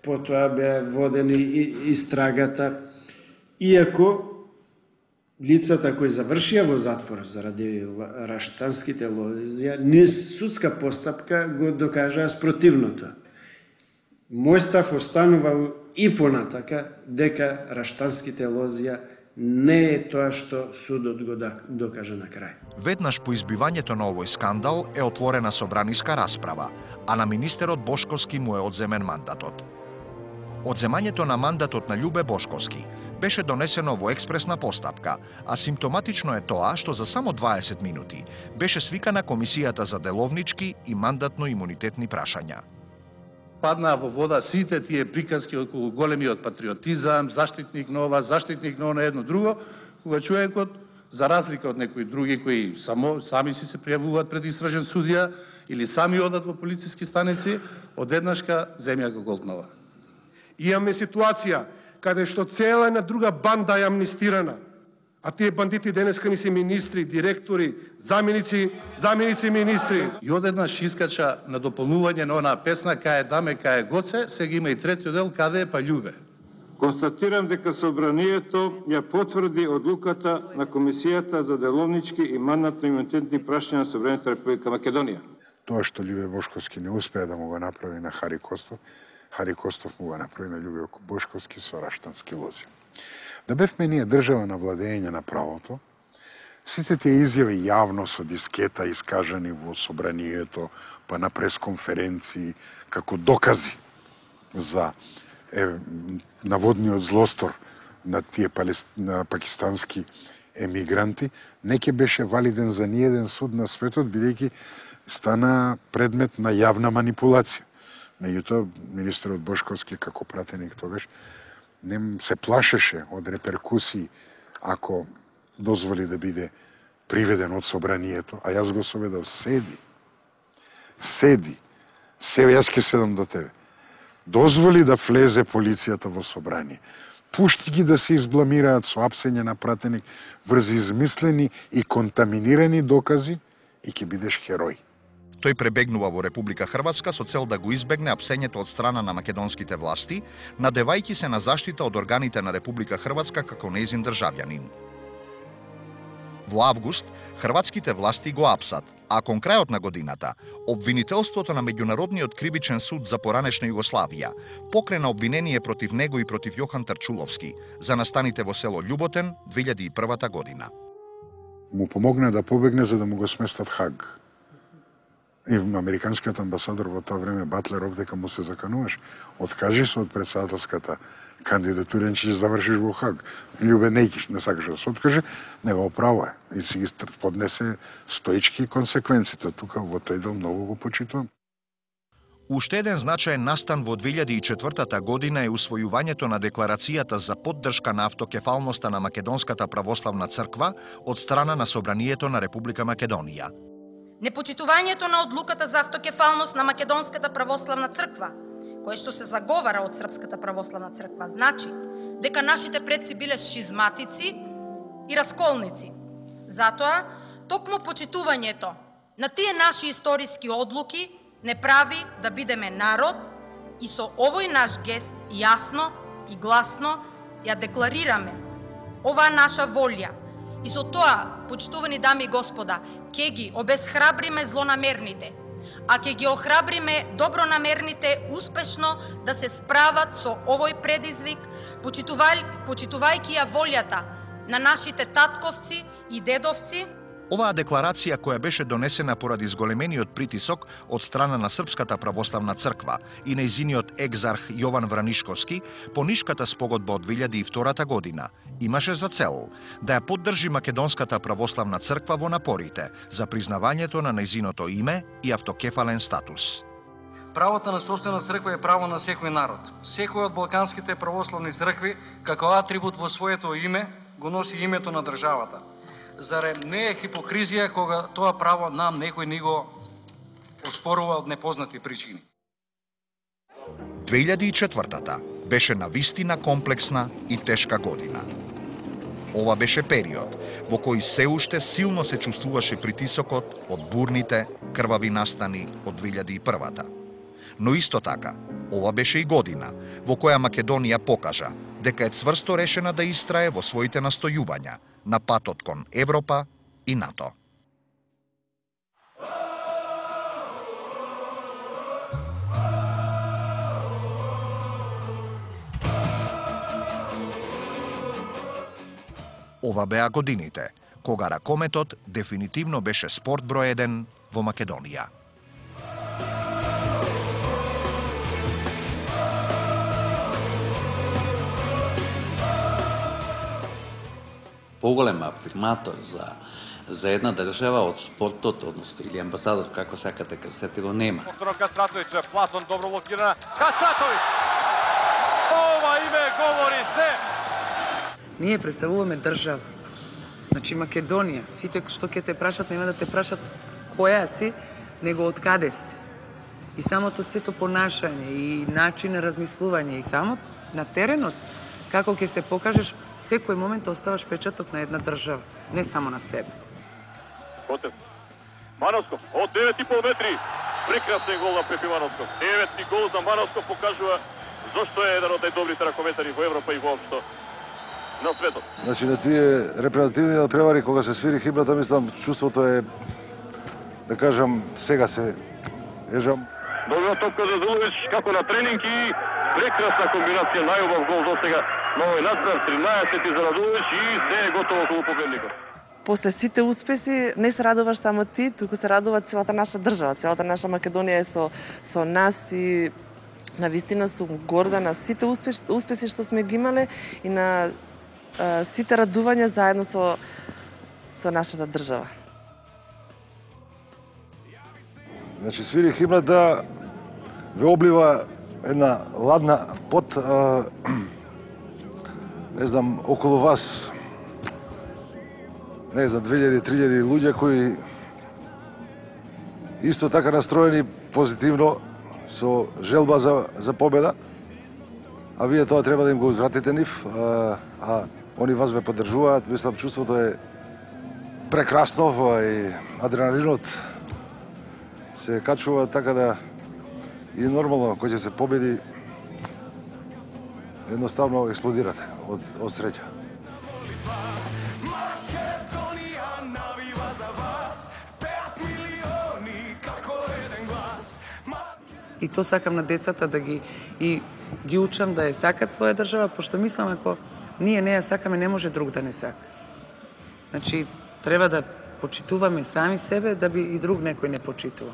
потоа беа водени истрагата, иако лицата кои завршија во затвор заради раштанските лозија, низ судска постапка го докажаа спротивното. Мој став останува и понатака дека раштанските лозија не е тоа што судот го докажа на крај. Веднаш по избивањето на овој скандал е отворена собраниска расправа, а на министерот Бошковски му е одземен мандатот. Одземањето на мандатот на Љубе Бошковски беше донесено во експресна постапка, а симптоматично е тоа што за само 20 минути беше свикана Комисијата за деловнички и мандатно-имунитетни прашања. Паднаа во вода сите тие приказки околу големиот патриотизам, заштитник на ова, заштитник на она, едно друго, кога човекот, за разлика од некои други кои сами си се пријавуваат пред истражен судија или сами одат во полициски станици, одеднашка земја го голтнала. Имаме ситуација каде што цела една друга банда е амнистирана, а тие бандити денеска ни се министри, директори, заменици министри. И одеднаш искача на дополнување на онаа песна "Кај е даме, кај е гоце", сега има и третиот дел "Каде е па љубе". Констатирам дека собранието ја потврди одлуката на Комисијата за деловнички и мандатно-имунитетни прашања на Собранието Република Македонија. Тоа што Љубе Бошковски не успеа да му го направи на Хари Костов му го направи на Љубе Бошковски со Раштански лозија. Да бевме ние држава на владење на правото, сите тие изјави јавно со дискета искажани во собранието, па на пресконференции, како докази за наводниот злостор на тие на пакистански емигранти, не ќе беше валиден за ниеден суд на светот, бидејќи стана предмет на јавна манипулација. Меѓутоа, министерот Бошковски, како пратеник тогаш, не се плашеше од реперкусии ако дозволи да биде приведен од собранието, а јас го соведав седи Себе јас ќе седам до тебе. Дозволи да влезе полицијата во собрание. Пушти ги да се избламираат со апсење на пратеник врз измислени и контаминирани докази и ќе бидеш херој. Тој пребегнува во Република Хрватска со цел да го избегне апсењето од страна на македонските власти, надевајќи се на заштита од органите на Република Хрватска како нејзин државјанин. Во август, хрватските власти го апсат, а кон крајот на годината, обвинителството на Меѓународниот кривичен суд за поранешна Југославија покрена обвинение против него и против Јохан Тарчуловски за настаните во село Љуботен 2001 година. Му помогна да побегне за да му го сместат Хаг. И американскиот амбасадор во тоа време Батлеров, дека му се закануваш, откажи се од председателската кандидатура, че ќе завршиш во Хаг. Љубе неќиш, не сакаш да се откаже, него право е. И си ги поднесе стоички консеквенците. Тука во тој дел многу го почитувам. Уште еден значаен настан во 2004 година е усвојувањето на декларацијата за поддршка на автокефалноста на Македонската православна црква од страна на Собранието на Република Македонија. Непочитувањето на одлуката за автокефалност на Македонската православна црква, кое што се заговара од Српската православна црква, значи дека нашите предци биле шизматици и расколници. Затоа, токму почитувањето на тие наши историски одлуки не прави да бидеме народ и со овој наш гест јасно и гласно ја декларираме оваа наша волја. И со тоа, почитувани дами и господа, ќе ги обезхрабриме злонамерните, а ќе ги охрабриме добронамерните успешно да се справат со овој предизвик, почитувајќи ја волјата на нашите татковци и дедовци. Оваа декларација, која беше донесена поради зголемениот притисок од страна на Српската православна црква и нејзиниот екзарх Јован Вранишковски по Нишката спогодба од 2002 година, имаше за цел да ја поддржи Македонската православна црква во напорите за признавањето на нејзиното име и автокефален статус. Правото на сопствена црква е право на секој народ. Секој од балканските православни цркви, како атрибут во своето име, го носи името на државата. Заре не е хипокризија кога тоа право нам некој ни го оспорува од непознати причини. 2004 беше навистина комплексна и тешка година. Ова беше период во кој се уште силно се чувствуваше притисокот од бурните, крвави настани од 2001. Но исто така, ова беше и година во која Македонија покажа дека е цврсто решена да истрае во своите настојувања на патот кон Европа и НАТО. Ова беа годините кога ракометот дефинитивно беше спорт број 1 во Македонија. Поголем афирматор за една држава од спортот, односно или амбасадор, како сакате кажете, го нема. Повторно Кастратовиќ, Платон добро блокира. Кастратовиќ! Ова име говори се! Ние представуваме држава. Значи Македонија, сите што ќе те прашат, нема да те прашат која си, него од каде си. И самото сето понашање и начин на размислување и само на теренот, како ќе се покажеш, секој момент оставаш печаток на една држава, не само на себе. Котев. Мановсков, од 9,5 метри. Прекрасен гол на Пепи Мановсков. 9 гол за Мановсков покажува зошто е еден од најдобрите ракометари во Европа и воопшто на светот. Значи на тие репрезентативни надпревари кога се свири химната, мислам, чувството е, да кажам, сега се ежам. Добра топка за Зулович, како на тренинг и прекрасна комбинација, најубав гол до сега на овој надпрев, 13 за Радулович и се е готово околу победникот. После сите успеси не се радуваш само ти, туку се радува целата наша држава, целата наша Македонија е со нас и навистина сум горда на сите успеси што сме ги имале и на сите радувања заедно со нашата држава. Значи свири химната, ве облива една ладна пот, не знам, околу вас, не знам, 2000-3000 луѓе кои исто така настроени позитивно со желба за победа, а вие тоа треба да им го узвратите нив, а они вас ве поддржуваат. Мислам, чувството е прекрасно и адреналинот се качува така да и нормално кој ќе се победи едноставно експлодирате од среќа. И то сакам на децата да ги учам да ја сакат своја држава, пошто мислам ако ние не ја сакаме, не може друг да не сака. Значи, треба да почитуваме сами себе, да би и друг некој не почитува.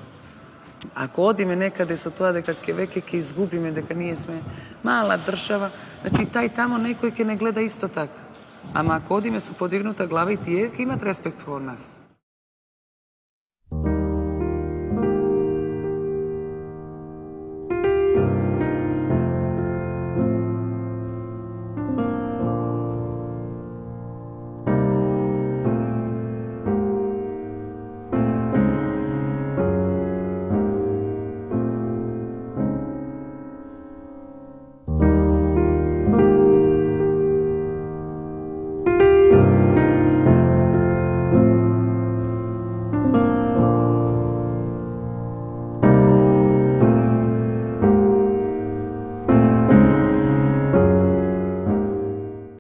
Ако одиме некаде со тоа дека веќе ќе изгубиме, дека ние сме мала држава, значи тај тамо некој ќе не гледа исто така. Ама ако одиме со подигнута глава и тие ќе имат респект во нас.